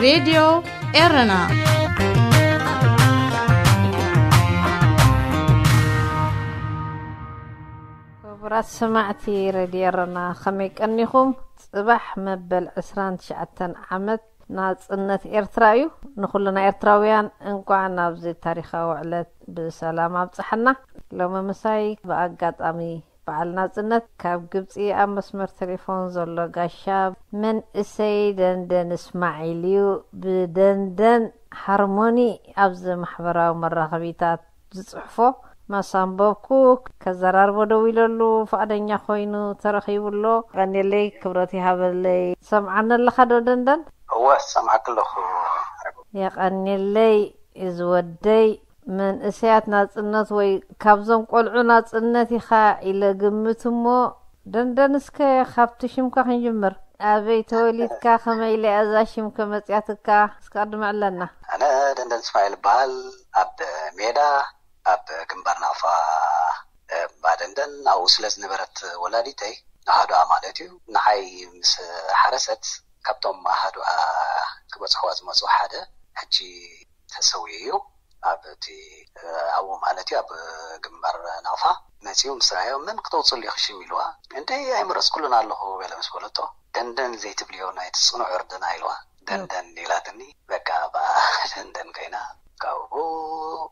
ሬድዮ ኤረና። ክቡራት ሰማዕቲ ሬድዮ ኤረና፣ ከመይ ቀኒኹም? ጽባሕ መበል ዕስራን ትሽዓተን ዓመት ናጽነት ኤርትራ እዩ። ንኹልና ኤርትራውያን እንቋዕ ናብዚ ታሪኻዊ ዕለት ብሰላም ኣብጽሓና። ሎሚ ምሳይ ብኣጋጣሚ በዓል ናጽነት ካብ ግብጺ ኣብ መስመር ቴሌፎን ዘሎ ጋሻ መንእሰይ ደንደን እስማዒል እዩ። ብደንደን ሃርሞኒ ኣብዚ ማሕበራዊ መራኸቢታት ዝጽሕፎ ማሳንበብኩ፣ ከዘራርቦ ደው ኢለሉ ፍቓደኛ ኮይኑ ተረኺቡ ኣሎ። የቐንየለይ፣ ክብረት ይሃበለይ። ሰምዓኒ ኣለኻ ዶ ደንደን? እወ፣ ሰምዓኪ ኣለኹ። የቐንየለይ፣ እዚ ወደይ። መንእሰያት ናጽነት ወይ ካብዞም ቆልዑ ናጽነት ኢኻ ኢለ ግምት እሞ፣ ደንደን እስከ ካብቲ ሽምካ ክንጅምር። ኣበይ ተወሊድካ? ከመይ ኢላ እዛ ሽምከ መጽያትካ? እስከ ቅድሚ ዕለና። ኣነ ደንደን እስማኤል እበሃል። ኣብ ሜዳ፣ ኣብ ግንባር ናቕፋ፣ እ፣ ባደንደን ኣብኡ ስለ ዝነበረት ወላዲተይ፣ ንኣሃዱኣ ማለት እዩ፣ ንዓይ ምስ ሓረሰት፣ ካብቶም ኣሃዱኣ ክበጽሕዋ ዝመጹ ሓደ ሕጂ ተሰዊኡ እዩ። ኣብ እቲ፣ እ፣ ኣብኡ ማለት እዩ፣ ኣብ ግንባር ናቕፋ መጺኡ ምስ ረኣዮ፣ "መን ክተውጽሉ ኢኺ ሽም?" ኢልዋ። "እንደ ኣይመረጽኩሉን ኣለኹ" በለ ምስ በለቶ፣ "ደንደን ዘይትብልዮ ናይቲ ጽኑዕ እርድና" ኢልዋ። "ደንደን" ኢላትኒ። በቃ ብኣ ደንደን ኮይና፣ ካብኡ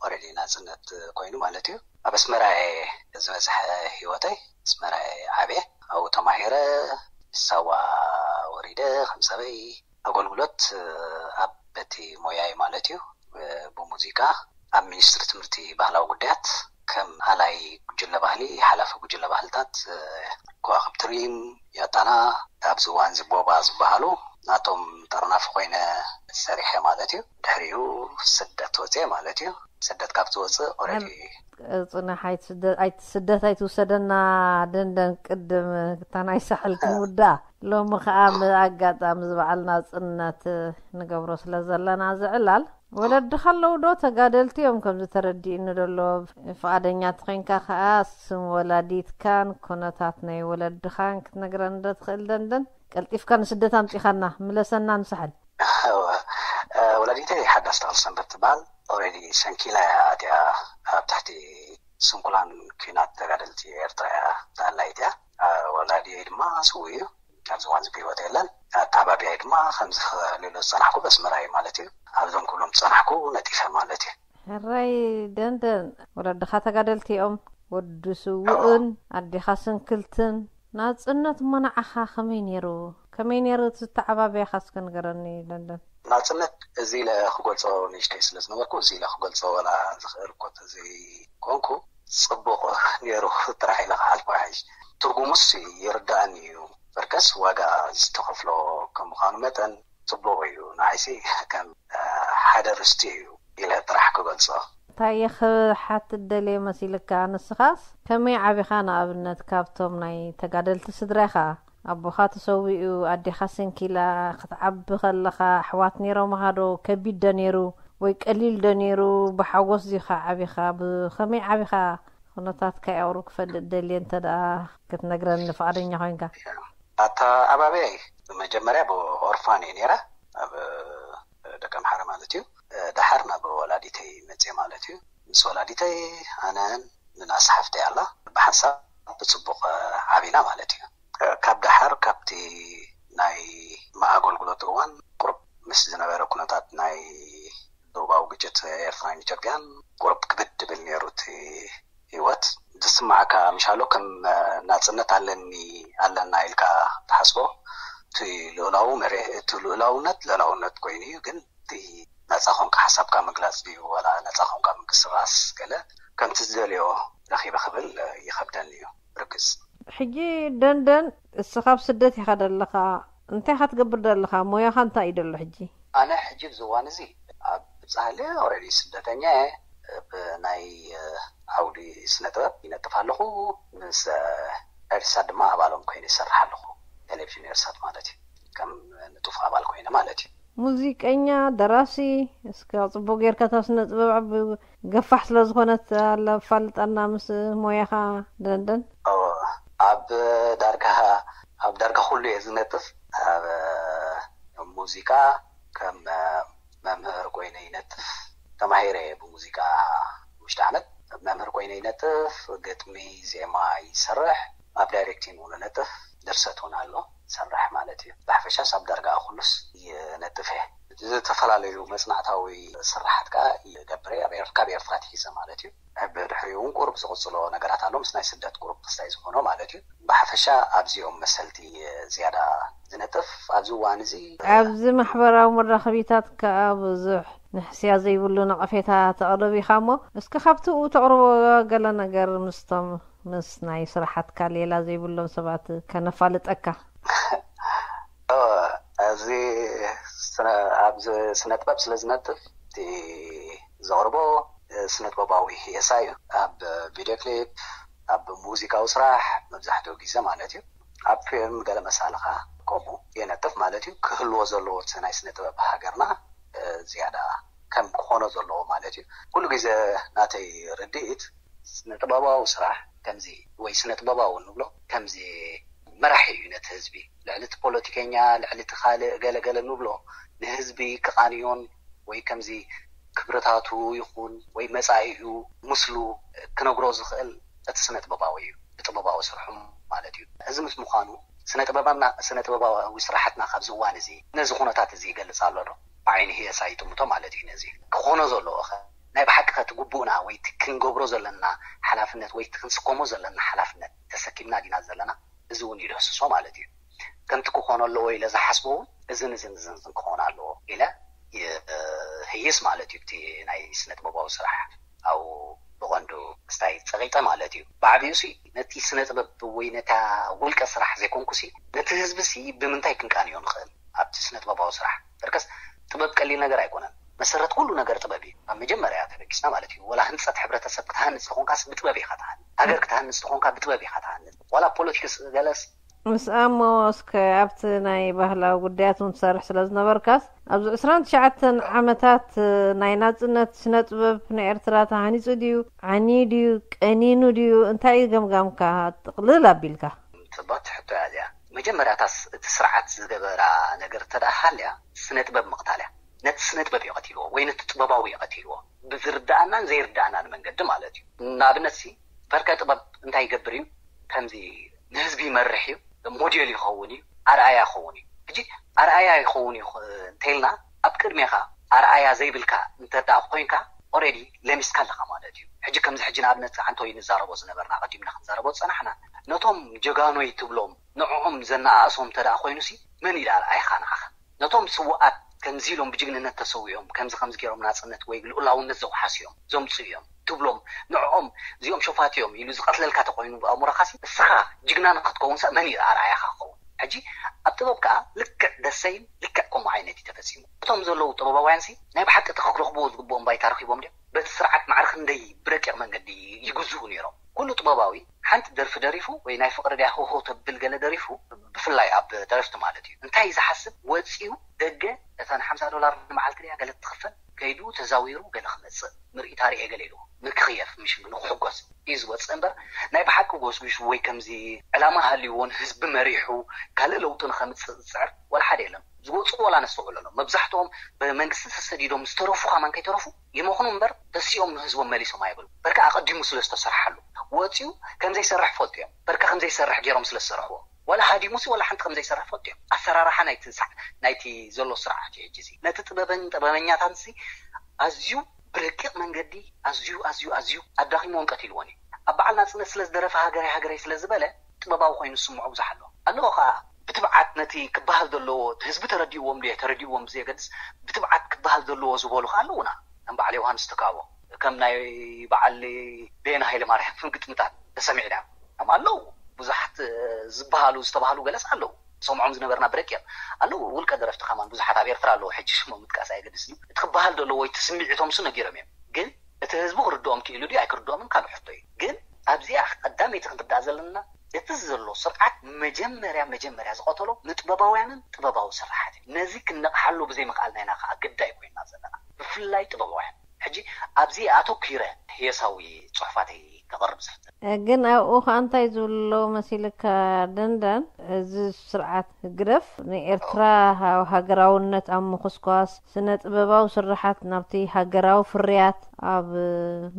ኦረዲ ናጽነት ኮይኑ ማለት እዩ። ኣብ ኣስመራ እየ ዝበዝሐ ህይወተይ፣ ኣስመራ እየ ዓብየ። ኣብኡ ተማሂረ፣ ሳዋ ወሪደ፣ ከም ሰበይ ኣገልግሎት ኣብ በቲ ሞያይ ማለት እዩ፣ ብሙዚቃ ኣብ ሚኒስትሪ ትምህርቲ ባህላዊ ጉዳያት ከም ኣላይ ጉጅለ ባህሊ፣ ሓላፊ ጉጅለ ባህልታት፣ ከዋኽብቲ ሪም፣ ያታና፣ ኣብዚ እዋን እዚ ቦባ ዝበሃሉ ናቶም ጠርናፊ ኮይነ ሰሪሐ ማለት እዩ። ድሕሪኡ ስደት ወፅየ ማለት እዩ። ስደት ካብ ዝወፅእ ኦረዲ ኣብ ጽናሕ ኣይትስደ-፣ ኣይት-፣ ስደት ኣይትውሰደና ደንደን፣ ቅድም እታ ናይ ሳሕል ክንውዳእ። ሎሚ ኸኣ ብኣጋጣሚ እዚ በዓል ናጽነት ንገብሮ ስለ ዘለና ዝዕላል፣ ወለድኻ ኣለዉ ዶ? ተጋደልቲ እዮም ከምዚ ተረዲእኒ ደሎ። ፍቓደኛ ተኾይንካ ኸኣ ስም ወላዲትካን ኩነታት ናይ ወለድኻን ክትነግረኒ ዶ ትኽእል ደንደን? ቀልጢፍካ ንስደት ኣምጺኻና፣ ምለሰና ንሳሕል። እወ፣ እ፣ ወላዲተይ ሓዳስ ተኽለ ሰንበት ትበሃል። ኦልሬዲ ሰንኪላ እያ ኣትያ፣ ኣብ ትሕቲ ስንኩላን ኲናት ተጋደልቲ ኤርትራ እያ ተኣላይት እያ። እ፣ ወላዲየይ ድማ ስዉእ እዩ፣ ኣብዚ እዋን እዚ ብህይወት የለን። ኣተዓባቢያይ ድማ ከምዚ ሌሎ ዝጸናሕኩ በስመራ እዩ ማለት እዩ። ኣብዞም ክብሎም ዝጸናሕኩ ነጢፈ ማለት እዩ። ሕራይ ደንደን፣ ወለድኻ ተጋደልቲ እዮም፣ ወዲ ስዉእን ኣዴኻ ስንክልትን። ናጽነት እሞ ንዓኻ ከመይ ነይሩ? ከመይ ነይሩ እቲ ዝተዓባበያኻ እስከ ንገረኒ ደንደን። ናጽነት እዚ ኢለ ክገልጾ ንእሽተይ ስለ ዝነበርኩ፣ እዚ ኢለ ክገልጾ ዋላ ዝኽእል እኮ ዘይኮንኩ፣ ጽቡቕ ነይሩ ጥራሕ ኢለ ክሓልፎ ይሓይሽ። ትርጉሙስ ይርድኣኒ እዩ። በርከስ ዋጋ ዝተኸፍሎ ከም ምዃኑ መጠን፣ ጽቡቕ እዩ። ንዓይሲ ከም፣ እ፣ ሓደ ርስቲ እዩ ኢለ ጥራሕ ክገልጾ። እንታይ እየ ክሓትት ደልየ መሲልካ? ንስኻስ ከመይ ዓቢኻ? ንኣብነት ካብቶም ናይ ተጋደልቲ ስድራኻ፣ ኣቦኻ ተሰዊኡ፣ ኣዴኻ ስንኪላ፣ ክትዓቢ ከለኻ ኣሕዋት ነይሮምኻ ዶ? ከቢድ ዶ ነይሩ ወይ ቀሊል ዶ ነይሩ? ብሓጎስ ዲኻ ዓቢኻ? ብኸመይ ዓቢኻ? ኩነታትካ የቕሩ ክፈልጥ ደልየ፣ እንተ ደኣ ክትነግረኒ ፍቓደኛ ኮይንካ። ኣተዓባብያይ መጀመርያ ብኦርፋን እየ ነይረ፣ ኣብ ደቀምሓረ ማለት እዩ። ደሓር ናብ ወላዲተይ መፅየ ማለት እዩ። ምስ ወላዲተይ፣ ኣነን ምንኣስ ሓፍተይ ኣላ፣ ብሓንሳብ ብፅቡቕ ዓቢና ማለት እዩ። ካብ ደሓር ካብቲ ናይ ኣገልግሎት እዋን ቁሩብ ምስ ዝነበረ ኩነታት ናይ ዶባዊ ግጭት ኤርትራን ኢትዮጵያን ቁሩብ ክብድ ድብል ነይሩ እቲ ህይወት። ዝስማዓካ ምሻሎ ከም ናጽነት ኣለኒ፣ ኣለና ኢልካ ትሓስቦ። እቲ ልኡላዊ መሬ-፣ እቲ ልኡላውነት ልኡላውነት ኮይኑ እዩ፣ ግን እቲ ነጻ ኮንካ ሓሳብካ ምግላጽ ድዩ ዋላ ነጻ ኮንካ ምንቅስቓስ ገለ ከምቲ ዝደልዮ ረኺበ ክብል ይኸብደኒ እዩ። ርግጽ። ሕጂ ደንደን፣ እስኻ ኣብ ስደት ኢኻ ደለኻ፣ እንታይ ኢኻ ትገብር ደለኻ? ሞያኻ እንታይ እዩ ደሎ ሕጂ? ኣነ ሕጂ ኣብዚ እዋን እዚ ኣብ ጻህሊ ኦልሬዲ ስደተኛ እየ። ብናይ፣ እ፣ ዓውዲ ስነ ጥበብ ይነጥፍ ኣለኹ። ምስ፣ እ፣ ኤርሳት ድማ ኣባሎም ኮይነ ይሰርሕ ኣለኹ። ቴሌቪዥን ኤርሳት ማለት እዩ። ከም ንጡፍ ኣባል ኮይነ ማለት እዩ። ሙዚቀኛ፣ ደራሲ፣ እስከ ጽቡቕ ጌርካ እታ ስነ ጥበብ ዓቢ ገፋሕ ስለ ዝኾነት ኣለ ኣፋልጠና ምስ ሞያኻ ደንደን። ኦ፣ ኣብ ዳርጋ፣ ኣብ ዳርጋ ኩሉ እየ ዝነጥፍ። ኣብ ሙዚቃ፣ ከም መምህር ኮይነ ይነጥፍ። ተማሂረ ብሙዚቃ ውሽጢ ዓመት መምህር ኮይነ ይነጥፍ፣ ግጥሚ፣ ዜማ ይሰርሕ፣ ኣብ ዳይሬክቲንግ እውን ነጥፍ፣ ድርሰት እውን ኣሎ፣ ሰርሕ ማለት እዩ። ብሓፈሻስ ኣብ ዳርጋ ኩሉስ ይነጥፍ እየ። ዝተፈላለዩ መጽናዕታዊ ስራሓት ከዓ ይገብር እየ፣ ኣብ ኤር- ካብ ኤርትራ ትሒዘ ማለት እዩ። ብድሕሪኡ እውን ቁሩብ ዝቕጽሎ ነገራት ኣሎ፣ ምስ ናይ ስደት ቁሩብ ክስታይ ዝኾኖ ማለት እዩ። ብሓፈሻ ኣብዚኦም መሰልቲ ዝያዳ ዝነጥፍ ኣብዚ እዋን እዚ። ኣብዚ ማሕበራዊ መራኸቢታት ከዓ ብዙሕ ንሕስያ ዘይብሉ ነቐፌታ ተቕርብ ኢኻ እሞ፣ እስኪ ካብቲ ተቕርቦ ገለ ነገር ምስቶም ምስ ናይ ስራሓትካ ሌላ ዘይብሎም ሰባት ከነፋልጠካ። ኣብዚ ኣብዚ ስነ ጥበብ ስለ ዝነጥፍ፣ እቲ ዘቕርቦ ስነ ጥበባዊ ህየሳ እዩ። ኣብ ቪድዮ ክሊፕ፣ ኣብ ሙዚቃዊ ስራሕ መብዛሕትኡ ግዜ ማለት እዩ። ኣብ ፊልም ገለ መሳልኻ ከምኡ የነጥፍ ማለት እዩ። ክህልዎ ዘለዎ እቲ ናይ ስነ ጥበብ ሃገርና ዝያዳ ከም ክኾኖ ዘለዎ ማለት እዩ። ኩሉ ግዜ ናተይ ርድኢት ስነ ጥበባዊ ስራሕ ከምዚ ወይ ስነ ጥበባዊ ንብሎ ከምዚ መራሒ እዩ ነቲ ህዝቢ። ልዕሊ እቲ ፖለቲከኛ፣ ልዕሊ እቲ ካልእ ገለገለ ንብሎ ንህዝቢ ክቓንዮን ወይ ከምዚ ክብርታቱ ይኹን ወይ መጻኢኡ ምስሉ ክነግሮ ዝኽእል እቲ ስነ ጥበባዊ እዩ፣ ብጥበባዊ ስርሑ ማለት እዩ። እዚ ምስ ምዃኑ ስነ ጥበባና ስነ ጥበባዊ ስራሓትና ካብዚ እዋን እዚ ነዚ ኩነታት እዚ ይገልጽ ኣሎ ዶ? ብዓይኒ ህየሳ ይጥምቶ ማለት እዩ። ነዚ ክኾኖ ዘለዎ ኸ ናይ ብሓቂ ከ እቲ ግቡእና ወይ እቲ ክንገብሮ ዘለና ሓላፍነት ወይ እቲ ክንስከሞ ዘለና ሓላፍነት ተሰኪምና ዲና ዘለና? እዚ እውን ይድህስሶ ማለት እዩ። ከምቲ ክኾኖ ኣለዎ ኢለ ዝሓስቦ እውን እዝን እዝን እዝን እዝን ክኾን ኣለዎ ኢለ ይህይስ ማለት እዩ። እቲ ናይ ስነ ጥበባዊ ስራሕ ኣብኡ ብቐንዱ ክስታይ ጸቒጠ ማለት እዩ። ብዓብዩ ሲ ነቲ ስነ ጥበብ ወይ ነታ ውልቀ ስራሕ ዘይኮንኩ ሲ ነቲ ህዝቢ ሲ ብምንታይ ክንቃንዮ ንኽእል ኣብቲ ስነ ጥበባዊ ስራሕ በርከስ ጥበብ ቀሊል ነገር ኣይኮነን። መሰረት ኩሉ ነገር ጥበብ እዩ። ኣብ መጀመርያ ተበጊስና ማለት እዩ። ወላ ህንፀት ሕብረተሰብ ክትሃንፅ ተኾንካስ ብጥበብ ኢኻ ትሃንፅ። ሃገር ክትሃንፅ ተኾንካ ብጥበብ ኢኻ ትሃንፅ። ዋላ ፖለቲክስ ገለስ ምስ ኣሞ እስከ ኣብቲ ናይ ባህላዊ ጉዳያት እውን ትሰርሕ ስለ ዝነበርካስ ኣብዚ ዕስራን ትሽዓተን ዓመታት ናይ ናጽነት ስነ ጥበብ ንኤርትራ ተሃኒጹ ድዩ? ዓንዩ ድዩ? ቀኒኑ ድዩ? እንታይ እዩ ገምጋምካ? ጥቕልል ኣቢልካ። ጽብቕቲ ሕቶ እያ እዚኣ። መጀመርያታስ እቲ ስርዓት ዝገበራ ነገር እንተ ደኣ ሃልያ ስነ ጥበብ ምቕታል እያ። ነቲ ስነ ጥበብ እዩ ቀቲልዎ ወይ ነቲ ጥበባዊ እዩ ቀቲልዎ። ብዝርድኣናን ዘይርድኣናን መንገዲ ማለት እዩ። ንኣብነት ሲ ፈርቀ ጥበብ እንታይ ይገብር እዩ? ከምዚ ንህዝቢ ይመርሕ እዩ፣ ሞዴል ይኸውን እዩ፣ ኣርኣያ ይኸውን እዩ። ሕጂ ኣርኣያ ይኸውን እዩ እንተኢልና ኣብ ቅድሜኻ ኣርኣያ ዘይብልካ እንተ ደኣ ኮይንካ ኦሬዲ ለሚስካ ኣለኻ ማለት እዩ። ሕጂ ከምዚ ሕጂ ንኣብነት ኣንቶይ ንዛረቦ ዝነበርና ኣቐዲምና ክንዛረቦ ዝጸናሕና ነቶም ጀጋኖይ ትብሎም ንዕኦም ዘነኣእሶም እንተ ደኣ ኮይኑሲ መን ኢሉ ኣርኣያኻ ንዓኻ? ነቶም ስውኣት ከምዚ ኢሎም ብጅግንነት ተሰዊኦም ከምዚ ከምዚ ገይሮም ናጽነት ወይ ልኡላውነት ዘውሓሱ እዮም ዘምጽኡ እዮም ትብሎም ንዕኦም እዚኦም ሸፋት እዮም ኢሉ ዝቐትለልካ ተኮይኑ ብኣእምሮኻሲ እስኻ ጅግና ንክትከውንሳ መን እዩ ኣርኣያኻ ክኸውን? ሕጂ ኣብ ጥበብ ከዓ ልክዕ ደሰይም ልክዕ ከምኡ ዓይነት እዩ ተፈጺሙ። እቶም ዘለዉ ጥበባውያንሲ ናይ ብሓቂ እቲ ክረኽብዎ ዝግብኦም ባይታ ረኺቦም ድዮም? በቲ ስርዓት ማዕረ ክንደይ ብረቂቕ መንገዲ ይግዝኡ ነይሮም። ኩሉ ጥበባዊ ሓንቲ ደርፊ ደሪፉ ወይ ናይ ፍቕሪ ድያ ሆሆ ተብል ገለ ደሪፉ ብፍላይ ኣብ ደረፍቲ ማለት እዩ እንታይ ዝሓስብ ወፂኡ ደገ እታ ንሓምሳ ዶላር ንመዓልቲ ድያ ገለ ትኽፈል ከይዱ ተዛዊሩ ገለ ክመፅእ ምርኢት ኣርእየ ገለ ኢሉ ንክኽየፍ ምሽ ንክሕጎስ እዩ ዝወፅእ እምበር ናይ ብሓቂ ጎስጒሹ ወይ ከምዚ ዕላማ ሃልይዎ ንህዝቢ መሪሑ ካልእ ለውጢ ንኸምፅእ ዝፅዕር ወላ ሓደ የለን። ዝወፁ ወላ ነስተውዕለሎም መብዛሕትኦም ብመንግስቲ ተሰዲዶም ዝተረፉ ከማን ከይተረፉ ይመኽኑ እምበር ተሲኦም ንህዝቦም መሊሶም ኣይብሉ በርካ ኣቐዲሙ ስለ ዝተሰርሓሉ ወፂኡ ከምዘይሰርሕ ፈልጡ እዮም በርካ ከምዘይሰርሕ ገይሮም ስለ ዝሰርሕዎ ወላ ሃዲሙሲ ወላ ሓንቲ ከምዘይሰርሕ ፈልጡ እዮም ኣሰራርሓ ናይቲ ናይቲ ዘሎ ስርዓት እዩ ሕጂ ነቲ ጥበበን ጥበበኛታትሲ ኣዝዩ ብረቂቕ መንገዲ ኣዝዩ ኣዝዩ ኣዝዩ ኣዳኺምዎን ቀቲልዎን እዩ ኣብ በዓል ናፅነት ስለ ዝደረፈ ሃገረይ ሃገረይ ስለ ዝበለ ጥበባዊ ኮይኑ ዝስምዖ ብዙሕ ኣሎ ኣለዎ ከዓ ብትብዓት ነቲ ክበሃል ዘለዎ ህዝቢ ተረዲእዎም ድየ ተረዲእዎም ብዘየገድስ ብትብዓት ክበሃል ዘለዎ ዝበሉ ከዓ ኣለውና ከም በዓል ዮሃንስ ትካቦ ከም ናይ በዓል ቤና ሃይለ ማርያም ግጥምታት ተሰሚዕና ከም ኣለዉ ብዙሓት ዝበሃሉ ዝተባህሉ ገለስ ኣለዉ ሰምዖም ዝነበርና ብረቂቕ ኣለዉ ውልቀ ደረፍቲ ከማን ብዙሓት ኣብ ኤርትራ ኣለዉ ሕጂ ሽሞም ምጥቃስ ኣየገድስን እዩ እቲ ክበሃል ዘለዎ እቲ ስምዒቶም ሱ ነጊሮም እዮም ግን እቲ ህዝቢ ክርድኦም ክኢሉ ድዩ ኣይክርድኦምን ካልእ ሕቶ እዩ ግን ኣብዚኣ ቀዳመይቲ ክንርዳእ ዘለና እቲ ዘሎ ስርዓት መጀመርያ መጀመርያ ዝቐተሎ ንጥበባውያንን ጥበባዊ ስራሓት እዩ። ነዚ ክንነቕሓሉ ብዘይምኽኣልና ኢና ከዓ ግዳይ ኮይንና ዘለና ብፍላይ ጥበባውያን። ሕጂ ኣብዚ ኣተኲረ ህየሳዊ ፅሑፋተይ ከቕርብ ዝሕተት። ግን ኣብኡ ከኣ እንታይ ዝብሉ ኣለዉ መሲልካ ደንደን፣ እዚ ስርዓት ህግደፍ ንኤርትራ ሃ-፣ ሃገራውነት ኣብ ምኹስኳስ፣ ስነ ጥበባዊ ስርሓት ናብቲ ሃገራዊ ፍርያት ኣብ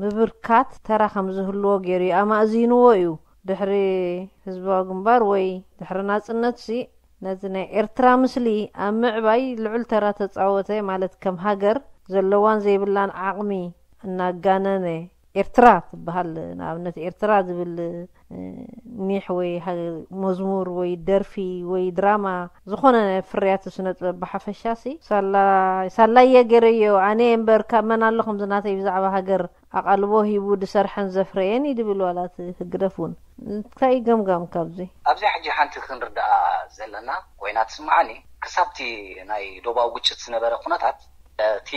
ምብርካት ተራ ከም ዝህልዎ ገይሩ እዩ ኣማእዚንዎ እዩ። ድሕሪ ህዝባዊ ግንባር ወይ ድሕሪ ናጽነትሲ ነዚ ናይ ኤርትራ ምስሊ ኣብ ምዕባይ ልዑል ተራ ተጻወተ። ማለት ከም ሃገር ዘለዋን ዘይብላን ዓቕሚ እናጋነነ ኤርትራ ትበሃል። ንኣብነት ኤርትራ ዝብል እ፣ ኒሕ ወይ ሃ-፣ መዝሙር ወይ ደርፊ ወይ ድራማ፣ ዝኾነ ፍርያት ስነ ጥበብ ብሓፈሻሲ ሳላ-፣ ሳላየ ገይረዮ ኣነ እምበር ካብ መን ኣሎ ከምዚ ናተይ ብዛዕባ ሃገር ኣቓልቦ ሂቡ ዝሰርሐን ዘፍረየን እዩ ድብል ዋላ እቲ ህግደፍ እውን። እንታይ ገምጋም ካብዚ? ኣብዚኣ ሕጂ ሓንቲ ክንርዳኣ ዘለና ኮይና ትስምዓኒ፣ ክሳብቲ ናይ ዶባዊ ግጭት ዝነበረ ኩነታት፣ እቲ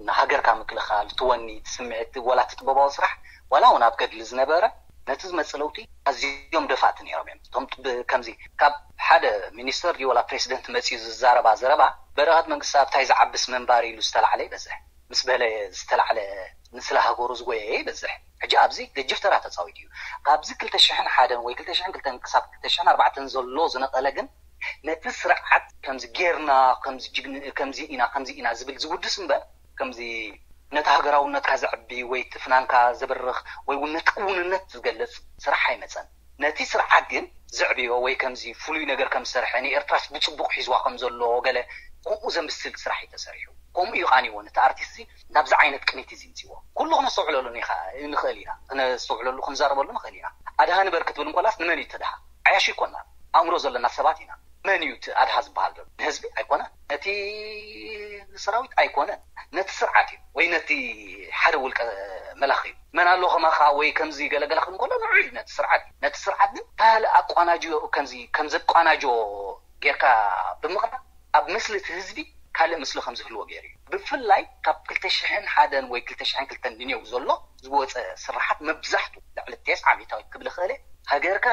ንሃገርካ ምክልኻል፣ እቲ ወኒ፣ እቲ ስምዒት፣ ዋላ እቲ ጥበባዊ ስራሕ፣ ዋላ እውን ኣብ ገድሊ ዝነበረ፣ ነቲ ዝመጽእ ለውጢ ኣዝዮም ደፋእቲ ነይሮም እዮም። እቶም ብ-፣ ከምዚ ካብ ሓደ ሚኒስተር ድዩ ዋላ ፕሬሲደንት መጺኡ ዝዛረባ ዘረባ፣ በረኸት መንግስቲ ኣብታይ ዝዓብስ መንባር ኢሉ ዝተላዕለ ይበዝሕ። ምስ በለ ዝተላዕለ ንስለ ሃገሩ ዝጎየየ ይበዝሕ። ሕጂ ኣብዚ ገጅፍ ተራ ተጻዊቱ እዩ። ካብዚ ክልተ ሽሕን ሓደን ወይ ክልተ ሽሕን ክልተን ክሳብ ክልተ ሽሕን ኣርባዕተን ዘሎ ዝነቐለ ግን ነቲ ስርዓት ከምዚ ጌርና፣ ከምዚ ጅግን-፣ ከምዚ ኢና፣ ከምዚ ኢና ዝብል ዝውድስ እምበር፣ ከምዚ ነቲ ሃገራውነትካ ዘዕቢ ወይ እቲ ፍናንካ ዘበርኽ ወይ እውን ነቲ ክውንነት ዝገልጽ ስራሕ ኣይመጸን። ነቲ ስርዓት ግን ዘዕብዮ ወይ ከምዚ ፍሉይ ነገር ከም ዝሰርሐ፣ ንኤርትራስ ብጽቡቕ ሒዝዋ ከም ዘሎ ገለ ከምኡ ዘምስል ስራሕ እዩ ተሰሪሑ። ከምኡ እዩ ቃንይዎ ነቲ ኣርቲስት እዚ ናብዚ ዓይነት ቅኒት እዚ ምጽዎ። ኩሉ ክነስተውዕለሉ ንኻ-፣ ንኽእል ኢና። ክነስተውዕለሉ ክንዛረበሉ ንኽእል ኢና። ኣድሃ ንበር ክትብል እንኮላስ ንመን እዩ ተድሃ? ዓያሹ ይኮና። ኣእምሮ ዘለና ሰባት ኢና። መን እዩ እቲ ኣድሃ ዝበሃል ዘሎ? ንህዝቢ ኣይኮነን። ነቲ ንሰራዊት ኣይኮነን። ነቲ ስርዓት እዩ። ወይ ነቲ ሓደ ውልቀ መላኺ እዩ። መን ኣሎ ከማኻ ወይ ከምዚ ገለገለ ክብል እንከሎ ንዑ እዩ ነቲ ስርዓት እዩ። ነቲ ስርዓት ግን ካልእ ኣቋናጅዮ ከምዚ ከም ዘቋናጆ ጌርካ ብምቕራብ ኣብ ምስሊ እቲ ህዝቢ ካልእ ምስሊ ከም ዝህልዎ ገይሩ እዩ። ብፍላይ ካብ ክልተ ሽሕን ሓደን ወይ ክልተ ሽሕን ክልተን ንኔው ዘሎ ዝወፀ ስራሓት መብዛሕቱ ልዕሊ ተስዓ ሚእታዊት ክብል እኽእል እየ። ሃገርካ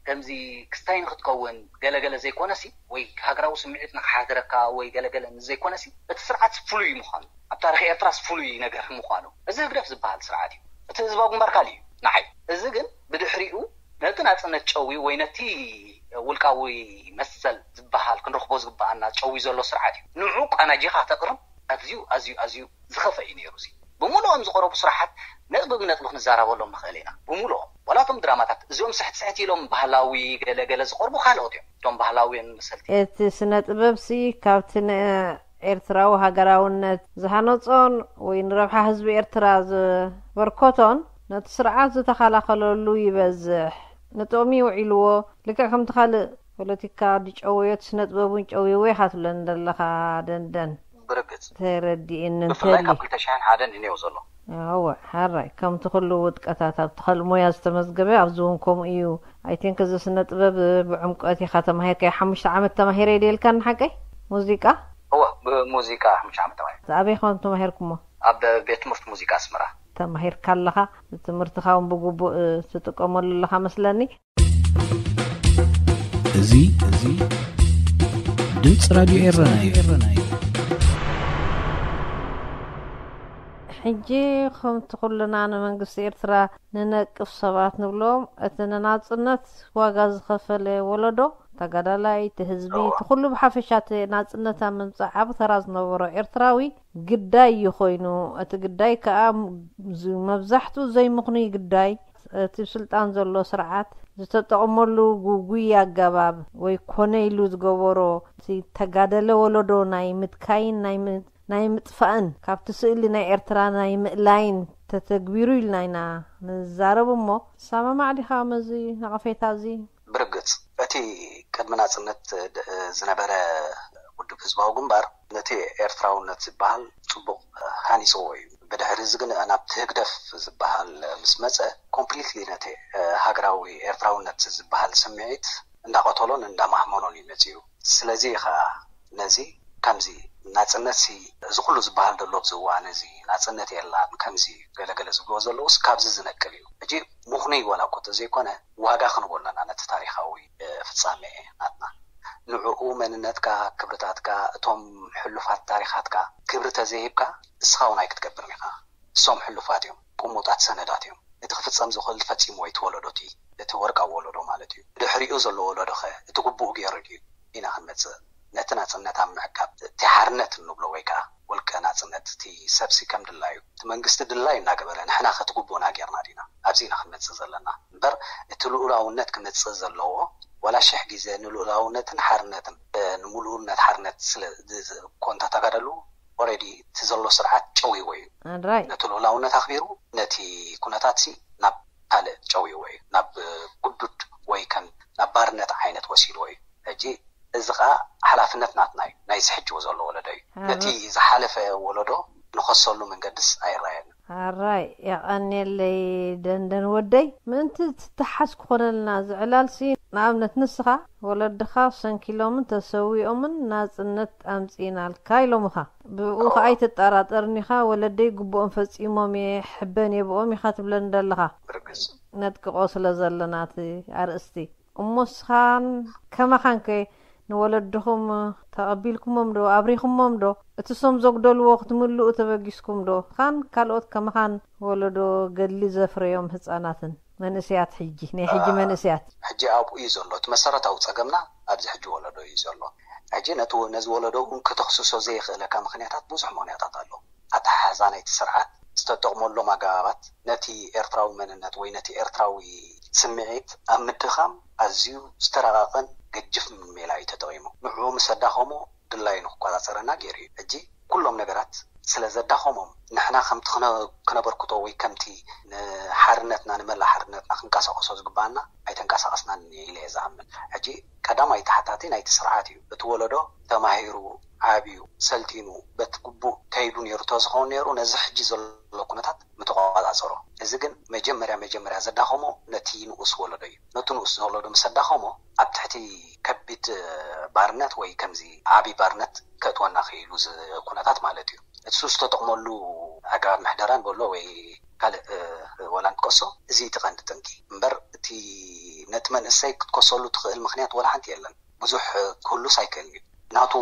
ከምዚ ክስታይ ንክትከውን ገለገለ ዘይኮነሲ ወይ ሃገራዊ ስምዒት ንክሓድረካ ወይ ገለገለ ዘይኮነሲ እቲ ስርዓት ፍሉይ ምዃኑ ኣብ ታሪክ ኤርትራስ ፍሉይ ነገር ምዃኑ እዚ ህግደፍ ዝበሃል ስርዓት እዩ። እቲ ህዝባዊ ግንባር ካልእ እዩ ንዓይ። እዚ ግን ብድሕሪኡ ነቲ ናጽነት ጨዊ ወይ ነቲ ውልቃዊ መሰል ዝበሃል ክንረኽቦ ዝግበኣና ጨዊ ዘሎ ስርዓት እዩ። ንዑ ቃናጂኻ ተቕርብ ኣዝዩ ኣዝዩ ኣዝዩ ዝኸፈ እዩ ነይሩ። እዚ ብምሉኦም ዝቐረቡ ስራሓት ነጥቢ ብነጥቢ ክንዛረበሎም ንኽእል ኢና። ብምሉኦም ዋላ እቶም ድራማታት እዚኦም ስሕት ስሕት ኢሎም ባህላዊ ገለ ገለ ዝቐርቡ ካልኦት እዮም። እቶም ባህላውያን መሰልቲ እቲ ስነ ጥበብ ሲ ካብቲ ን ኤርትራዊ ሃገራውነት ዝሃነጾን ወይ ንረብሓ ህዝቢ ኤርትራ ዘበርከቶን ነቲ ስርዓት ዝተኸላኸለሉ ይበዝሕ። ንጥቕሚ ውዒልዎ። ልክዕ ከምቲ ካልእ ፖለቲካ ድጨወዮ እቲ ስነ ጥበብ እውን ጨውይዎ ኢኻ ትብለኒ ዘለኻ ደንደን። ብርግጽ ተረዲእኒ ብፍላይ እንተሊ ካብ ክልተ ሽሕን ሓደን እዩ ዘሎ። ኣወ ሓራይ ከምቲ ኩሉ ውድቀታት ኣብቲ ካልእ ሞያ ዝተመዝገበ ኣብዚ እውን ከምኡ እዩ። ኣይ ቲንክ እዚ ስነ ጥበብ ብዕምቆት ኢኻ ተማሂርካዮ። ሓሙሽተ ዓመት ተማሂረ ኢለ ኢልካኒ ሓቀይ? ሙዚቃ? እወ ብሙዚቃ ሓሙሽተ ዓመት ተማሂረ። ኣበይ ኮን ተማሂርኩሞ? ኣብ ቤት ትምህርቲ ሙዚቃ ኣስመራ። ተማሂርካ ኣለኻ። ትምህርትኻ እውን ብግቡእ ትጥቀመሉ ኣለኻ መስለኒ። እዚ እዚ ድምፂ ራድዮ ኤረና እዩ። ሕጂ ከምቲ ኩልና ንመንግስቲ ኤርትራ ንነቅፍ ሰባት ንብሎም፣ እቲ ንናጽነት ዋጋ ዝኸፈለ ወለዶ፣ ተጋዳላይ፣ እቲ ህዝቢ፣ እቲ ኩሉ ብሓፈሻ እቲ ናጽነት ኣብ ምምጻእ ዓቢ ተራ ዝነበሮ ኤርትራዊ ግዳይ እዩ ኮይኑ። እቲ ግዳይ ከኣ ዝ-፣ መብዛሕትኡ ዘይምኽኑይ ግዳይ፣ እቲ ስልጣን ዘሎ ስርዓት ዝተጠቕመሉ ጉጉይ ኣገባብ ወይ ኮነ ኢሉ ዝገበሮ፣ እቲ ተጋደለ ወለዶ ናይ ምድካይን ናይ ም-፣ ናይ ምጥፋእን፣ ካብቲ ስእሊ ናይ ኤርትራ ናይ ምእላይን ተተግቢሩ ኢልና ኢና ንዛረብ እሞ፣ ትሰማማዕ ዲኻ ምስዚ ነቐፌታ እዚ? ብርግጽ፣ እቲ ቅድሚ ናጽነት ድ-፣ ዝነበረ ውድብ ህዝባዊ ግንባር ነቲ ኤርትራውነት ዝበሃል ጽቡቕ ሃኒጽዎ እዩ። ብድሕሪ እዚ ግን ናብቲ ህግደፍ ዝበሃል ምስ መጸ፣ ኮምፕሊትሊ ነቲ ሃገራዊ ኤርትራውነት ዝበሃል ስምዒት እንዳቐተሎን እንዳማህመኖን እዩ መጺኡ። ስለዚ እዩ ኸኣ ነዚ ከምዚ ናጽነትሲ እዚ ኩሉ ዝበሃል ዘሎ ኣብዚ እዋን እዚ ናጽነት የላን ከምዚ ገለገለ ዝብልዎ ዘለውስ ካብዚ ዝነቅል እዩ። ሕጂ ምኽኑይ ዋላ እኮ እንተዘይኮነ ዋጋ ክንቦ ኣለና ነቲ ታሪኻዊ፣ እ፣ ፍጻሜ ናትና። ንዕኡ መንነትካ፣ ክብርታትካ፣ እቶም ሕሉፋት ታሪኻትካ ክብሪ ተዘይሂብካ እስኻ እውን ኣይክትገብርን ኢኻ። እሶም ሕሉፋት እዮም፣ ቅሙጣት ሰነዳት እዮም። እቲ ክፍጸም ዝኽእል ፈጺምዎ እዩ እቲ ወለዶ፣ እቲ እቲ ወርቃዊ ወለዶ ማለት እዩ። ድሕሪኡ ዘሎ ወለዶ ኸ እቲ ግቡኡ ገይሩ ድዩ? ኢና ክንመጽእ። ነቲ ናጽነት ኣብ ምዕቃብ፣ እቲ ሓርነት እንብሎ ወይ ከኣ ውልቀ ናጽነት፣ እቲ ሰብሲ ከም ድላዩ፣ እቲ መንግስቲ ድላዩ እናገበረ፣ ንሕና ከ እቲ ግቡእና ጌርና ዲና? ኣብዚ ኢና ክንመጽእ ዘለና። እምበር እቲ ልኡላውነት ክመጽእ ዘለዎ፣ ዋላ ሽሕ ግዜ ንልኡላውነትን ሓርነትን፣ እ፣ ንምሉእነት ሓርነት ስለ ዝ-፣ ዝ-፣ ኮንታ ተጋደሉ፣ ኦሬዲ እቲ ዘሎ ስርዓት ጨውይዎ እዩ። ኣድራይ ነቲ ልኡላውነት ኣኽቢሩ፣ ነቲ ኩነታት ሲ ናብ ካልእ ጨውይዎ እዩ። ናብ፣ እ፣ ግዱድ ወይ ከም ናብ ባርነት ዓይነት ወሲድዎ እዩ። ሕጂ እዚ ኸኣ ሓላፍነት ናትና እዩ፣ ናይዚ ሕጂ ዘሎ ወለዶ እዩ። ኣረ- ነቲ ዝሓለፈ ወለዶ ንኸሰሉ መንገድስ ኣይረኣየን። ኣራይ የቐንየለይ ደንደን ወደይ። ምእንቲ ትተሓዝ ክኾነልና ዝዕላልሲ፣ ንኣብነት ንስኻ ወለድኻ ሰንኪሎምን ተሰዊኦምን ናጽነት ኣምጺእናልካ ኢሎምኻ። ብኡ ኸኣ ኣይትጠራጠርኒኻ፣ ወለደይ ግቡኦም ፈጺሞም እየ፣ ሕበን እየ ብኦም ኢኻ ትብለኒ ዘለኻ። ብርግጽ ነጥቅቆ ስለ ዘለና እቲ ኣርእስቲ። እሞ ንስኻን ከማኻንከ ንወለድኹም ተቐቢልኩሞም ዶ ኣብሪኹሞም ዶ? እቲ ሶም ዘጉደልዎ ክትምልኡ ተበጊስኩም ዶ? ኻን ካልኦት ከማኻን ወለዶ ገድሊ ዘፍረዮም ህፃናትን መንእሰያት፣ ሕጂ ናይ ሕጂ መንእሰያት ሕጂ ኣብኡ እዩ ዘሎ። እቲ መሰረታዊ ጸገምና ኣብዚ ሕጂ ወለዶ እዩ ዘሎ። ሕጂ ነቲ ነዚ ወለዶ እውን ከተኽስሶ ዘይኽእለካ ምኽንያታት ብዙሕ ምኽንያታት ኣሎ። ኣተሓሕዛ ናይቲ ስርዓት፣ ዝተጠቕመሎም ኣገባባት፣ ነቲ ኤርትራዊ መንነት ወይ ነቲ ኤርትራዊ ስምዒት ኣብ ምድኻም ኣዝዩ ዝተረቓቐን ገጅፍ ሜላ እዩ ተጠቒሙ። ንዕኡ ምስ ኣዳኸሞ ድላዩ ንክቆጻጸረና ገይሩ እዩ። ሕጂ ኩሎም ነገራት ስለ ዘዳኸሞም፣ ንሕና ከምቲ ክነ- ክነበርክቶ ወይ ከምቲ ንሓርነትና ንመላእ ሓርነትና ክንቀሳቐሶ ዝግባኣና ኣይተንቀሳቐስናን ኢለ እየ ዝኣምን። ሕጂ ቀዳማይ ተሓታቲ ናይቲ ስርዓት እዩ። እቲ ወለዶ ተማሂሩ ዓብዩ ሰልጢኑ በቲ ግቡእ ከይዱ ነይሩ ተዝኸውን ነይሩ ነዚ ሕጂ ዘሎ ኩነታት ምተቆጻጸሮ። እዚ ግን መጀመርያ መጀመርያ ዘዳኸሞ ነቲ ንኡስ ወለዶ እዩ። ነቲ ንኡስ ወለዶ ምስ ኣዳኸሞ ኣብ ትሕቲ ከቢድ ባርነት ወይ ከምዚ ዓቢ ባርነት ከእትወና ክኢሉ እዚ ኩነታት ማለት እዩ። እሱ ዝተጠቕመሉ ኣገባብ ምሕደራ ንበሎ ወይ ካልእ ወላ ንጥቀሶ፣ እዚ እቲ ቀንዲ ጠንቂ እምበር እቲ ነቲ መንእሰይ ክትከሰሉ ትኽእል ምኽንያት ወላ ሓንቲ የለን። ብዙሕ ክህሉስ ኣይክእልን እዩ። ናቱ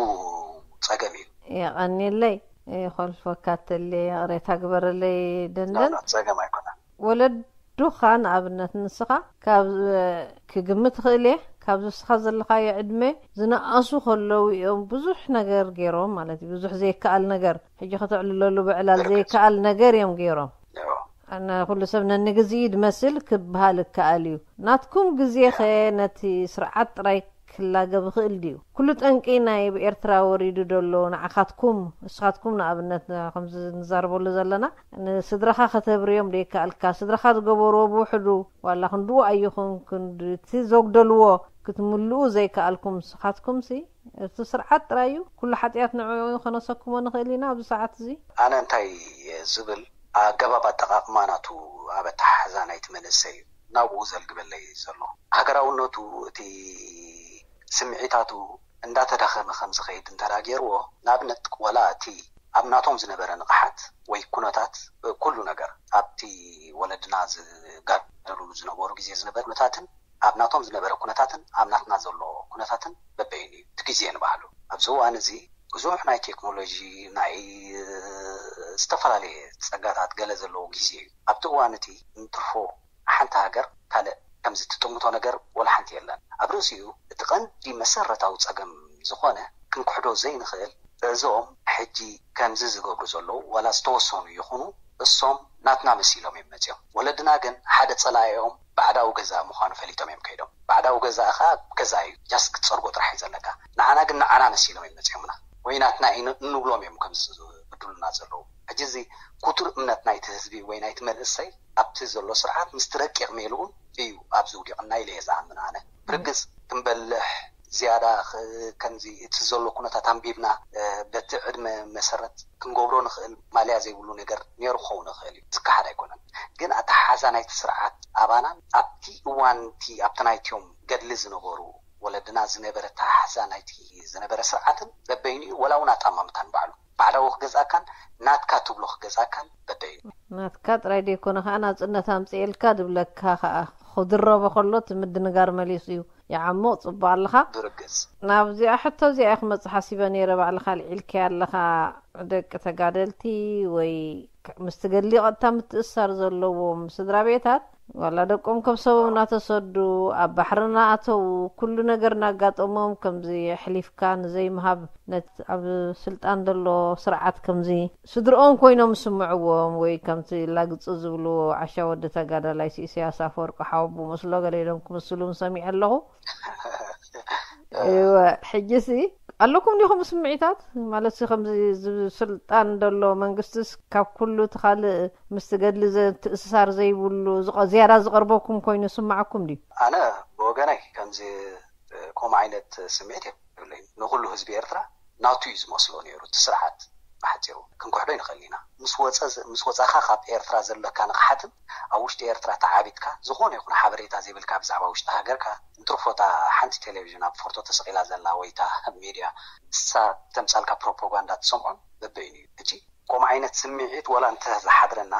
ጸገም እዩ። የቐንየለይ። ይኾልፈካ ተለ ይቕሬታ ግበረለይ ደንደን። ጸገም ኣይኮነን። ወለዱኻ ንኣብነት ንስኻ ካብ ክግምት ክእል እየ፣ ካብዚ ንስኻ ዘለኻዮ ዕድመ ዝነኣሱ ከለዉ እዮም ብዙሕ ነገር ገይሮም ማለት እዩ። ብዙሕ ዘይከኣል ነገር ሕጂ ከተዕልለሉ ብዕላል ዘይከኣል ነገር እዮም ገይሮም። እዎ። ኩሉ ሰብ ነንግዜ ድመስል ክበሃል ይከኣል እዩ። ናትኩም ግዜ ኸ ነቲ ስርዓት ጥራይ ክላገብ ይኽእል ድዩ? ኩሉ ጠንቂ ናይ ኤርትራ ወሪዱ ደሎ ንዓኻትኩም፣ ንስኻትኩም ንኣብነት ከምዚ ንዛረበሉ ዘለና ንስድራኻ ከተብርዮም ደይከኣልካ፣ ስድራኻ ዝገበርዎ ብውሕዱ ዋላ ክንድኡ ኣይኹን ክንዲ እቲ ዘጉደልዎ ክትምልኡ ዘይከኣልኩም ንስኻትኩምሲ እቲ ስርዓት ጥራይ እዩ። ኩሉ ሓጢኣት ንዕኡ ከነሰክሞ ንኽእል ኢና ኣብዚ ሰዓት እዚ። ኣነ እንታይ ዝብል ኣገባብ ኣጠቓቕማ ናቱ ኣብ ኣተሓሕዛ ናይቲ መንእሰይ እዩ ናብኡ ዘልግበለይ ዘሎ። ሃገራውነቱ እቲ ስምዒታቱ እንዳተዳኸመ ከም ዝኸይድ እንተ ደኣ ገይርዎ፣ ንኣብነት ዋላ እቲ ኣብ ናቶም ዝነበረ ንቕሓት ወይ ኩነታት ኩሉ ነገር ኣብቲ ወለድና ዝጋደሉሉ ዝነበሩ ግዜ ዝነበረ ኩነታትን ኣብ ናቶም ዝነበረ ኩነታትን ኣብ ናትና ዘሎ ኩነታትን በበይኑ እዩ። እቲ ግዜ ንባዕሉ ኣብዚ እዋን እዚ ብዙሕ ናይ ቴክኖሎጂ ናይ ዝተፈላለየ ጸጋታት ገለ ዘለዎ ግዜ እዩ። ኣብቲ እዋን እቲ እንትርፎ ሓንቲ ሃገር ካልእ ከምዚ ትጥምቶ ነገር ወላ ሓንቲ የለን። ኣብ ርእሲኡ እቲ ቀንዲ መሰረታዊ ጸገም ዝኾነ ክንክሕዶ ዘይንኽእል እዞም ሕጂ ከምዚ ዝገብሩ ዘለዉ ዋላ ዝተወሰኑ ይኹኑ እሶም ናትና መሲሎም እዮም መጺኦም። ወለድና ግን ሓደ ጸላኢኦም ባዕዳዊ ገዛእ ምዃኑ ፈሊጦም እዮም ከይዶም። ባዕዳዊ ገዛእ ኸኣ ገዛእ እዩ፣ ጃስት ክትጸርጎ ጥራሕ እዩ ዘለካ። ንዓና ግን ንዓና መሲሎም እዮም መጺኦምና ወይ ናትና እዩ ን- እንብሎም እዮም ከምዚ ዝብድሉና ዘለዉ። ሕጂ እዚ ክቱር እምነት ናይቲ ህዝቢ ወይ ናይቲ መንእሰይ ኣብቲ ዘሎ ስርዓት ምስቲ ረቂቕ ሜልኡን እዩ ኣብዚ ውዲቕና ኢለ እየ ዝኣምን ኣነ። ብርግጽ ክንበልሕ ዝያዳ ኽ- ከምዚ እቲ ዘሎ ኩነታት ኣንቢብና እ፣ በቲ ዕድመ መሰረት ክንገብሮ ንኽእል ማልያ ዘይብሉ ነገር ነይሩ ክኸውን ይኽእል እዩ፣ ዝከሓድ ኣይኮነን። ግን ኣተሓሓዛ ናይቲ ስርዓት ኣባናን ኣብቲ እዋን እቲ ኣብቲ ናይቲኦም ገድሊ ዝነበሩ ወለድና ዝነበረ ኣተሓሓዛ ናይቲ ዝነበረ ስርዓትን በበይኑ እዩ፣ ወላ እውን ኣጣማምታን ባዕሉ ባዕዳዊ ክገዝኣካን ናትካ ትብሎ ክገዝኣካን በበይኑ። ናትካ ጥራይ ደይኮነ ከዓ ናፅነት ኣምፅኤልካ ድብለካ ከዓ ክድረቦ ከሎ እቲ ምድንጋር መሊሱ እዩ። ይዓሙቕ። ጽቡቕ ኣለኻ። ብርግጽ። ናብዚኣ ሕቶ እዚኣ ክመጽእ ሓሲበ ነይረ። ባዕልኻ ኣልዒልካያ ኣለኻ፣ ደቂ ተጋደልቲ ወይ ምስቲ ገድሊ ቀጥታ ምትእስሳር ዘለዎም ስድራ ቤታት፣ ዋላ ደቆም ከብሰቦም እናተሰዱ፣ ኣብ ባሕሪ እናኣተዉ፣ ኩሉ ነገር እናጋጠሞም፣ ከምዚ ኣሕሊፍካ ንዘይምሃብ፣ ነቲ ኣብ ስልጣን ዘሎ ስርዓት ከምዚ ስድርኦም ኮይኖም ዝስምዕዎም፣ ወይ ከምቲ ላግጺ ዝብልዎ፣ ዓሻ ወዲ ተጋዳላይ ኢሳያስ ኣፈወርቂ ሓወቦ መስሎ ገለ ኢሎም ክምስሉ ሰሚዐ ኣለኹ። እወ፣ ሕጂሲ ኣለኩም ዲኹም ስምዒታት? ማለት ከምዚ ስልጣን ዘሎ መንግስትስ ካብ ኩሉ እቲ ካልእ ምስቲ ገድሊ ትእስሳር ዘይብሉ ዝያዳ ዝቐርበኩም ኮይኑ ይስምዓኩም ድዩ? ኣነ ብወገነይ ከምዚ ከምኡ ዓይነት ስምዒት የብለይን። ንኹሉ ህዝቢ ኤርትራ ናቱ እዩ ዝመስሎ ነይሩ እቲ ስርዓት። ብሓፂሩ ክንክሕዶ ይንኽእል ኢና። ምስ ወፃኻ ካብ ኤርትራ ዘለካ ንቕሓትን ኣብ ውሽጢ ኤርትራ ተዓቢጥካ ዝኾነ ይኹን ሓበሬታ ዘይብልካ ብዛዕባ ውሽጢ ሃገርካ እንትርፎታ ሓንቲ ቴሌቪዥን ኣብ ፎርቶ ተሰቒላ ዘላ ወይታ ሚድያ ንሳ ተምፃልካ ፕሮፓጋንዳ ትሰምዖን በበይኑ እዩ። ሕጂ ከምኡ ዓይነት ስምዒት ዋላ እንተ ዝሓድረና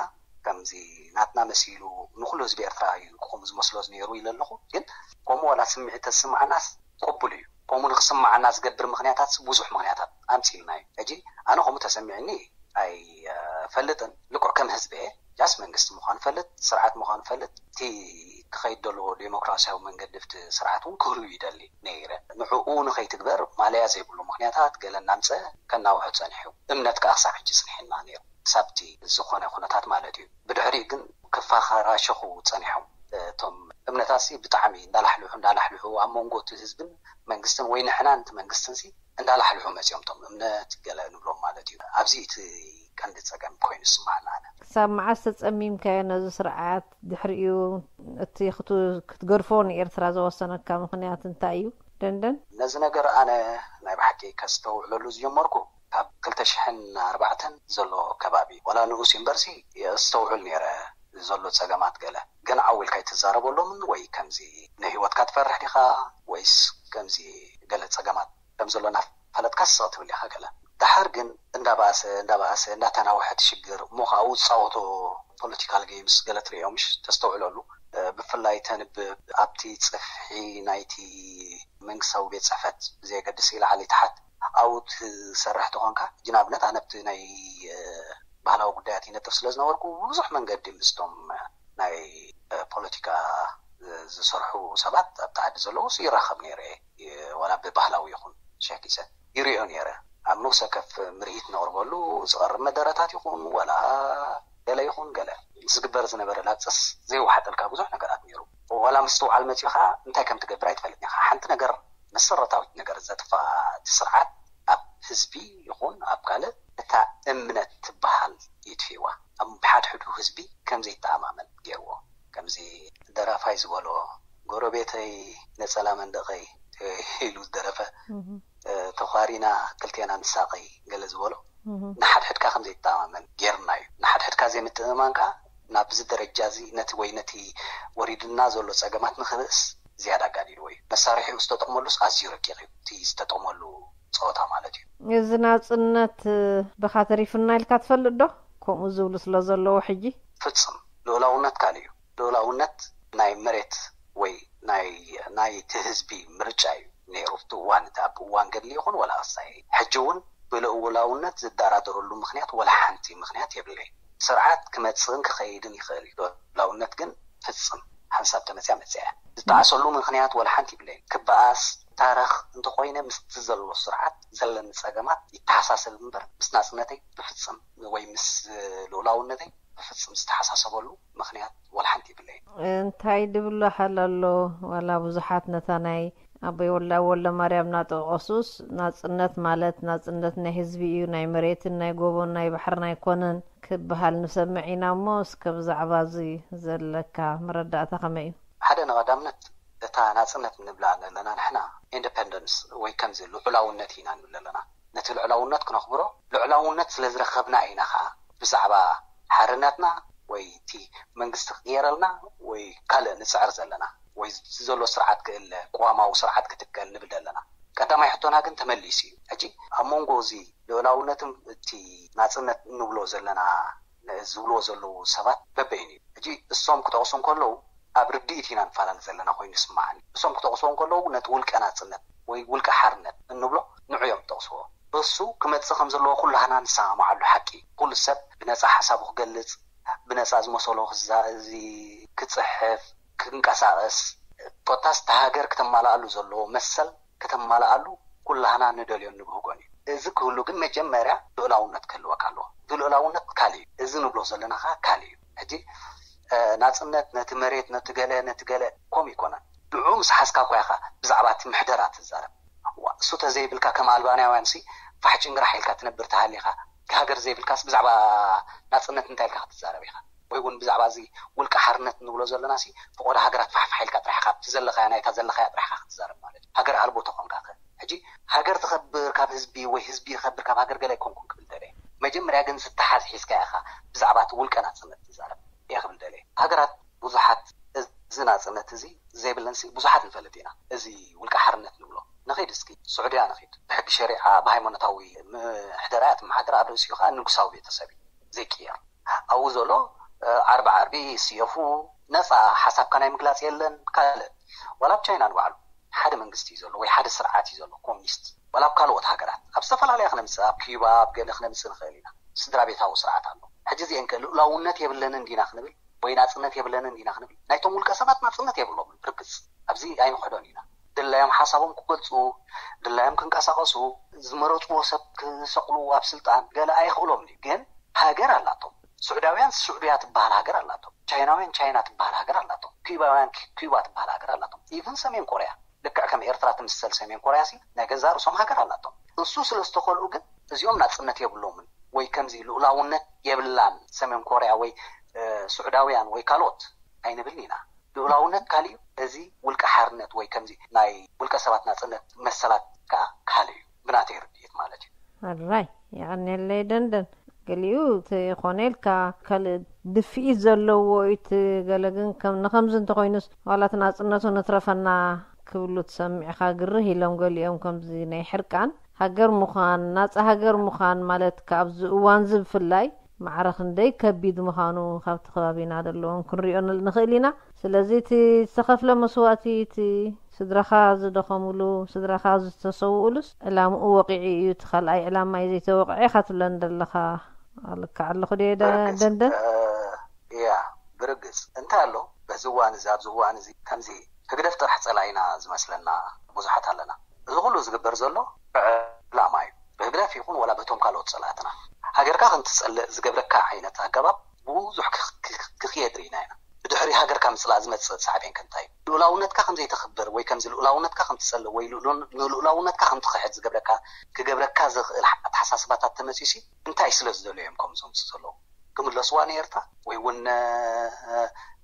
ከምዚ ናትና መሲሉ ንኩሉ ህዝቢ ኤርትራ እዩ ከምኡ ዝመስሎ ነይሩ ኢለ ኣለኹ። ግን ከምኡ ዋላ ስምዒት ተስምዓናስ ቅቡል እዩ። ከምኡ ንክስምዓና ዝገብር ምክንያታት ብዙሕ ምክንያታት ኣምፂልና እዩ። ሕጂ ኣነ ከምኡ ተሰሚዕኒ ኣይፈልጥን። ልክዕ ከም ህዝቢ እየ ጃስ መንግስቲ ምኳኑ ፈልጥ፣ ስርዓት ምኳኑ ፈልጥ፣ እቲ ክኸይድ ዘለዎ ዴሞክራሲያዊ መንገዲ ብቲ ስርዓት እውን ክህሉ ይደሊ ነይረ። ንዕኡ ንኸይትግበር ማለያ ዘይብሉ ምክንያታት ገለ እናምፀ ከናውሑ ፀኒሑ። እምነት ከዓ ክሳብ ሕጂ ፅኒሕና ነይሩ። ክሳብቲ ዝኾነ ኩነታት ማለት እዩ። ብድሕሪኡ ግን ክፈራሸኹ ፀኒሖም። እቶም እምነታትሲ ብጣዕሚ እንዳላሕልሑ እንዳላሕልሑ ኣብ መንጎ እቲ ህዝብን መንግስትን ወይ ንሕናን እቲ መንግስትንሲ እንዳላሕልሑ መፂኦም። እቶም እምነት ገለ ንብሎም ማለት እዩ። ኣብዚ እቲ ቀንዲ ፀገም ኮይኑ ዝስማዓና ኣነ። ክሳብ መዓስ ተፀሚምካዮ ነዚ ስርዓት? ድሕሪኡ እቲ ክትገድፎ ንኤርትራ ዘወሰነካ ምክንያት እንታይ እዩ? ደንደን። ነዚ ነገር ኣነ ናይ ብሓቂ ከስተውዕለሉ ዝጀመርኩ ካብ ክልተ ሽሕን ኣርባዕተን ዘሎ ከባቢ ዋላ ንኡስ እምበርሲ የስተውዕል ነይረ ዘሎ ጸገማት ገለ ግን ዓው ኢልካ ኣይትዛረበሎምን ወይ ከምዚ ንህይወትካ ትፈርሕ ዲኻ ወይስ ከምዚ ገለ ጸገማት ከም ዘሎ እናፈለጥካ ስቕ ትብል ኢኻ ገለ ደሓር ግን እንዳባእሰ እንዳባእሰ እንዳተናወሐ እቲ ሽግር እሞ ከኣ ዝጻወቶ ፖለቲካል ጌምስ ገለ ትርእዮ ምሽ ተስተውዕለሉ ብፍላይ ተንብብ ኣብቲ ጽፍሒ ናይቲ መንግስታዊ ቤት ጽሕፈት ብዘየገድስ ኢላዓሊ ትሓት ኣብኡ ትሰርሕ ተኾንካ ሕጂ ንኣብነት ኣነ ኣብቲ ናይ ባህላዊ ጉዳያት ይነጥፍ ስለ ዝነበርኩ ብብዙሕ መንገዲ ምስቶም ናይ ፖለቲካ ዝሰርሑ ሰባት ኣብቲ ዓዲ ዘለዉ ይራኸብ ነይረ ዋላ ብባህላዊ ይኹን ሸኪሰ ይሪኦ ነይረ ኣብ ንውሰ ከፍ ምርኢት ነቕርበሉ ዝቐርብ መደረታት ይኹን ዋላ ገለ ይኹን ገለ ዝግበር ዝነበረ ላግፅስ ዘይወሓጠልካ ብዙሕ ነገራት ነይሩ ዋላ ምስትውዓል መፅኡ ከዓ እንታይ ከም ትገብር ኣይትፈልጥን ኢኻ ሓንቲ ነገር መሰረታዊት ነገር ዘጥፍኣ እቲ ስርዓት ኣብ ህዝቢ ይኹን ኣብ ካልእ እታ እምነት ትበሃል የጥፊእዋ ኣብ ሓድሕዱ ህዝቢ ከም ዘይተኣማመን ገይርዎ ከምዚ ደራፋይ ዝበሎ ጎረቤተይ ነፀላ መንደቀይ ኢሉ ዝደረፈ ተኳሪና ክልቴና ንሳቀይ ገለ ዝበሎ ንሓድሕድካ ከም ዘይተኣማመን ገይርና እዩ ንሓድሕድካ ዘይምትእምማን ከዓ ናብዚ ደረጃ እዚ ነቲ ወይ ነቲ ወሪድና ዘሎ ፀገማት ንክብእስ ዝያዳ ኣጋዲድዎ እዩ መሳርሒኡ ዝተጠቅመሉስ ኣዝዩ ረቂቅ እዩ እቲ ዝተጠቅመሉ ፀወታ ማለት እዩ እዚ ናፅነት ብኻ ተሪፍና ኢልካ ትፈልጥ ዶ ከምኡ ዝብሉ ስለ ዘለዉ ሕጂ ፍፅም ልኡላውነት ካልእ እዩ ልኡላውነት ናይ መሬት ወይ ናይ ናይቲ ህዝቢ ምርጫ እዩ ነይሩ ኣብቲ እዋን እቲ ኣብ እዋን ገድሊ ይኹን ወላ ክሳይ ሕጂ እውን ብልኡላውነት ዝደራደረሉ ምክንያት ወላ ሓንቲ ምክንያት የብለይ ስርዓት ክመፅእን ክኸይድን ይኽእል እዩ ልኡላውነት ግን ፍፅም ሓንሳብ ተመፅያ መፅያ ዝጠዓሰሉ ምክንያት ወላ ሓንቲ ይብለይ ክበኣስ ታረኽ እንተኮይነ ምስቲ ዘሎ ስርዓት ዘለኒ ፀገማት ይተሓሳሰብ እምበር ምስ ናፅነተይ ብፍፅም ወይ ምስ ልኡላውነተይ ብፍፅም ዝተሓሳሰበሉ ምክንያት ወላ ሓንቲ ይብለይን። እንታይ ድብሎ ሓል ኣሎ ዋላ ብዙሓት ነታ ናይ ኣቦይ ወላ ወልደማርያም ናጠቐሱስ ናፅነት ማለት ናፅነት ናይ ህዝቢ እዩ ናይ መሬትን ናይ ጎቦን ናይ ባሕርን ኣይኮነን ክበሃል ንሰምዕ ኢና እሞ እስከ ብዛዕባ እዚ ዘለካ መረዳእታ ከመይ እዩ? ሓደ ንቐዳምነት እታ ናፅነት ንብላ ዘለና ንሕና ኢንደፐንደንስ ወይ ከምዚ ልዑላውነት ኢና ንብል ዘለና ነቲ ልዑላውነት ክነኽብሮ ልዑላውነት ስለ ዝረኸብና ኢና ኸዓ ብዛዕባ ሓርነትና ወይ እቲ መንግስቲ ክቅየረልና ወይ ካልእ ንፅዕር ዘለና ወይ ዘሎ ስርዓት ክእለ ቅዋማዊ ስርዓት ክትከል ንብል ዘለና ቀዳማይ ሕቶና ግን ተመሊሱ እዩ ሕጂ ኣብ መንጎ እዚ ልዑላውነትን እቲ ናፅነት እንብሎ ዘለና ዝብልዎ ዘለዉ ሰባት በበይኑ እዩ ሕጂ እሶም ክጠቕሱ እንከለዉ ኣብ ርድኢት ኢና ንፈላለ ዘለና ኮይኑ ይስምዓኒ። እሶም ክጠቕስዎ እንከለዉ ነቲ ውልቀ ናጽነት ወይ ውልቀ ሓርነት እንብሎ ንዑ እዮም ዝጠቕስዎ። በሱ ክመጽእ ከም ዘለዎ ኩላህና ንሰማማዓሉ ሓቂ። ኩሉ ሰብ ብነጻ ሓሳቡ ክገልጽ፣ ብነጻ ዝመሰሎ ክዛ-፣ እዚ ክጽሕፍ፣ ክንቀሳቐስ፣ ኮታስ እታ ሃገር ክተማልኣሉ ዘለዎ መሰል ክተማልኣሉ ኩላህና ንደልዮን ንብህጎን እዩ። እዚ ክህሉ ግን መጀመርያ ልኡላውነት ክህልወካ ኣለዎ። እቲ ልኡላውነት ካልእ እዩ። እዚ ንብሎ ዘለና ኸዓ ካልእ እዩ። ሕጂ፣ እ፣ ናጽነት ነቲ መሬት፣ ነቲ ገለ፣ ነቲ ገለ፣ ከምኡ ይኮነን። ንዕኡ ምስ ሓዝካ እኳ ኢኻ ብዛዕባ እቲ ምሕደራ ትዛረብ። ዋ፣ እሱ ተዘይብልካ ከም ኣልባንያውያን ሲ ፋሕ ጭንግራሕ ኢልካ ትነብር ተሃሊኻ፣ ሃገር ዘይብልካስ ብዛዕባ ናጽነት እንታይ ኢልካ ክትዛረብ ኢኻ? ወይ እውን ብዛዕባ እዚ ውልቀ ሓርነት ንብሎ ዘለና ሲ ፈቆዶ ሃገራት ፋሕፋሕ ኢልካ ጥራሕ ኢኻ ኣብቲ ዘለኻያ ናይታ ዘለኻያ ጥራሕ ኢኻ ክትዛረብ ማለት እዩ። ሃገር ኣልቦ ተኾንካ ከ? ሕጂ ሃገር ትኸብር ካብ ህዝቢ ወይ ህዝቢ ይኸብር ካብ ሃገር ገለ ኣይኮንኩን ክብል ደለ። መጀመርያ ግን ዝተሓዝ ሒዝካ ኢኻ ብዛዕባ እቲ ውልቀ ናጽነት ትዛረብ እየ ክብል ደለ። ሃገራት ብዙሓት እዚ ናጽነት እዚ ዘይብለን ሲ ብዙሓት ንፈልጥ ኢና። እዚ ውልቀ ሓርነት ንብሎ ንኺድ እስኪ ስዑድያ ንኺድ። ብሕጊ ሸሪዓ ብሃይማኖታዊ ምሕደራ እያ ትመሓደር። ኣብ ርእሲኡ ከዓ ንጉሳዊ ቤተሰብ እዩ ዘይቅየር። ኣብኡ ዘሎ፣ እ፣ ዓርቢ ዓርቢ ይስየፉ፣ ነፃ ሓሳብካ ናይ ምግላፅ የለን። ካልእ ዋላ ኣብ ቻይና ንባዕሉ ሓደ መንግስቲ እዩ ዘሎ ወይ ሓደ ስርዓት እዩ ዘሎ ኮሚኒስት። ዋላ ኣብ ካልኦት ሃገራት ኣብ ዝተፈላለያ ክነምፅእ፣ ኣብ ኪዩባ ኣብ ገለ ክነምፅእ ንኽእል ኢና። ስድራ ቤታዊ ስርዓት ኣሎ። ሕጂ እዚአን ከ ልኡላውነት የብለንን ዲና ክንብል ወይ ናፅነት የብለንን ዲና ክንብል ናይቶም ውልቀ ሰባት ናፅነት የብሎምን። ብርግፅ ኣብዚ ኣይንኽሕዶን ኢና። ድላዮም ሓሳቦም ክገልፁ፣ ድላዮም ክንቀሳቐሱ፣ ዝመረፅዎ ሰብ ክሰቕሉ ኣብ ስልጣን ገለ ኣይኽእሎም ድዩ? ግን ሃገር ኣላቶም። ስዑዳውያን ስዑድያ ትበሃል ሃገር ኣላቶም። ቻይናውያን ቻይና ትበሃል ሃገር ኣላቶም። ኪዩባውያን ኪ-፣ ኪዩባ ትበሃል ሃገር ኣላቶም። ኢቭን ሰሜን ኮርያ ልክዕ ከም ኤርትራ ትምሰል ሰሜን ኮርያ ሲ ናይ ገዛእ ርእሶም ሃገር ኣላቶም። እሱ ስለ ዝተኸልኡ ግን እዚኦም ናጽነት የብሎምን ወይ ከምዚ ልኡላውነት የብላን ሰሜን ኮርያ ወይ፣ እ፣ ስዑዳውያን ወይ ካልኦት ኣይንብልን ኢና። ልኡላውነት ካልእ እዩ። እዚ ውልቀ ሓርነት ወይ ከምዚ ናይ ውልቀ ሰባት ናጽነት መሰላት ከኣ ካልእ እዩ። ብናተይ ርድኢት ማለት እዩ። ኣራይ፣ የቐንየለይ ደንደን። ገሊኡ እቲ ኮነ ኢልካ ካልእ ድፍኢት ዘለዎ እዩ፣ እቲ ገለ ግን ከም፣ ንኸምዚ እንተኾይኑስ ዋላ እቲ ናጽነቱ ንትረፈና ክብሉ ትሰምዕኻ ግርህ ኢሎም ገሊኦም ከምዚ ናይ ሕርቃን ሃገር ምዃን፣ ናጻ ሃገር ምዃን ማለት ከ ኣብዚ እዋን እዚ ብፍላይ ማዕረ ክንደይ ከቢድ ምዃኑ ካብቲ ከባቢና ዘለዎም ክንሪኦ ን-፣ ንኽእል ኢና። ስለዚ እቲ ዝተኸፍለ መስዋእቲ፣ እቲ ስድራኻ ዝደኸሙሉ፣ ስድራኻ ዝተሰውኡሉስ ዕላምኡ ወቂዑ እዩ፣ እቲ ካልኣይ ዕላማ እዩ ዘይተወቅዐ ኢኻ ትብለን ዘለኻ። ልክዕ ኣለኹ ድየ ደ-፣ ብርግጽ፣ ደንደን? እ፣ እያ፣ ብርግጽ። እንታይ ኣሎ፣ በዚ እዋን እዚ፣ ኣብዚ እዋን እዚ ከምዚ ህግደፍ ጥራሕ ጸላኢና ዝመስለና ብዙሓት ኣለና። እዚ ኩሉ ዝግበር ዘሎ ዕላማ እዩ። ብህግደፍ ይኹን ወላ በቶም ካልኦት ጸላእትና። ሃገርካ ከም ትጸልእ ዝገብረካ ዓይነት ኣገባብ ብዙሕ ክኽ-፣ ክኽ-፣ ክኽየድ ርኢና ኢና። ብድሕሪ ሃገርካ ምጽላእ ዝመጽእ ሳዕቤን ከ እንታይ እዩ? ልኡላውነትካ ከም ዘይተኽብር ወይ ከምዚ ልኡላውነትካ ከም ትጸልእ ወይ ልኡሉን-፣ ንልኡላውነትካ ከም ትኽሕድ ዝገብረካ፣ ክገብረካ ዝኽእል ኣተሓሳስባታት ተመጺኡሲ እንታይ ስለ ዝደልዩ እዮም ከምኡ ዘምጽኡ ዘለዉ? ክምለስዋ ንኤርትራ ወይ እውን፣ እ፣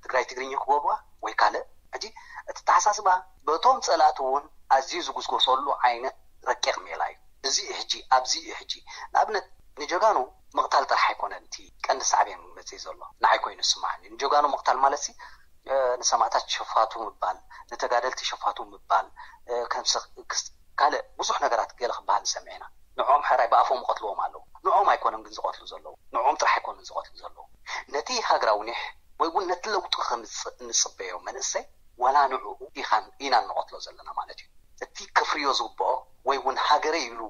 ትግራይ ትግርኛ ክገብርዋ ወይ ካልእ? ሕጂ እቲ ኣተሓሳስባ በቶም ጸላእቲ እውን ኣዝዩ ዝጉስጎሰሉ ዓይነት ረቂቕ ሜላ እዩ። እዚ እዩ ሕጂ፣ ኣብዚ እዩ ሕጂ። ንኣብነት ንጀጋኑ ምቕታል ጥራሕ ኣይኮነን እቲ ቀንዲ ሳዕቤን መጽኢ ዘሎ። ንዓይ ኮይኑ ዝስምዓኒ። ንጀጋኑ ምቕታል ማለት ሲ፣ እ፣ ንሰማእታት ሸፋቱ ምባል፣ ንተጋደልቲ ሸፋቱ ምባል፣ እ፣ ከም ስ-፣ ክስ-፣ ካልእ ብዙሕ ነገራት ገለ ክበሃል ንሰምዕ ኢና። ንዕኦም ሕራይ ብኣፎም ይቐትልዎም ኣለዉ። ንዕኦም ኣይኮነን ግን ዝቐትሉ ዘለዉ። ንዕኦም ጥራሕ ኣይኮነን ዝቐትሉ ዘለዉ። ነቲ ሃገራዊ ኒሕ ወይ እውን ነቲ ለውጢ ከምጽእ እንጽበዮ መንእሰይ ዋላ ንዕኡ ኢኻን ኢናን ንቐትሎ ዘለና ማለት እዩ። እቲ ከፍርዮ ዝግብኦ ወይ እውን ሃገረይ ኢሉ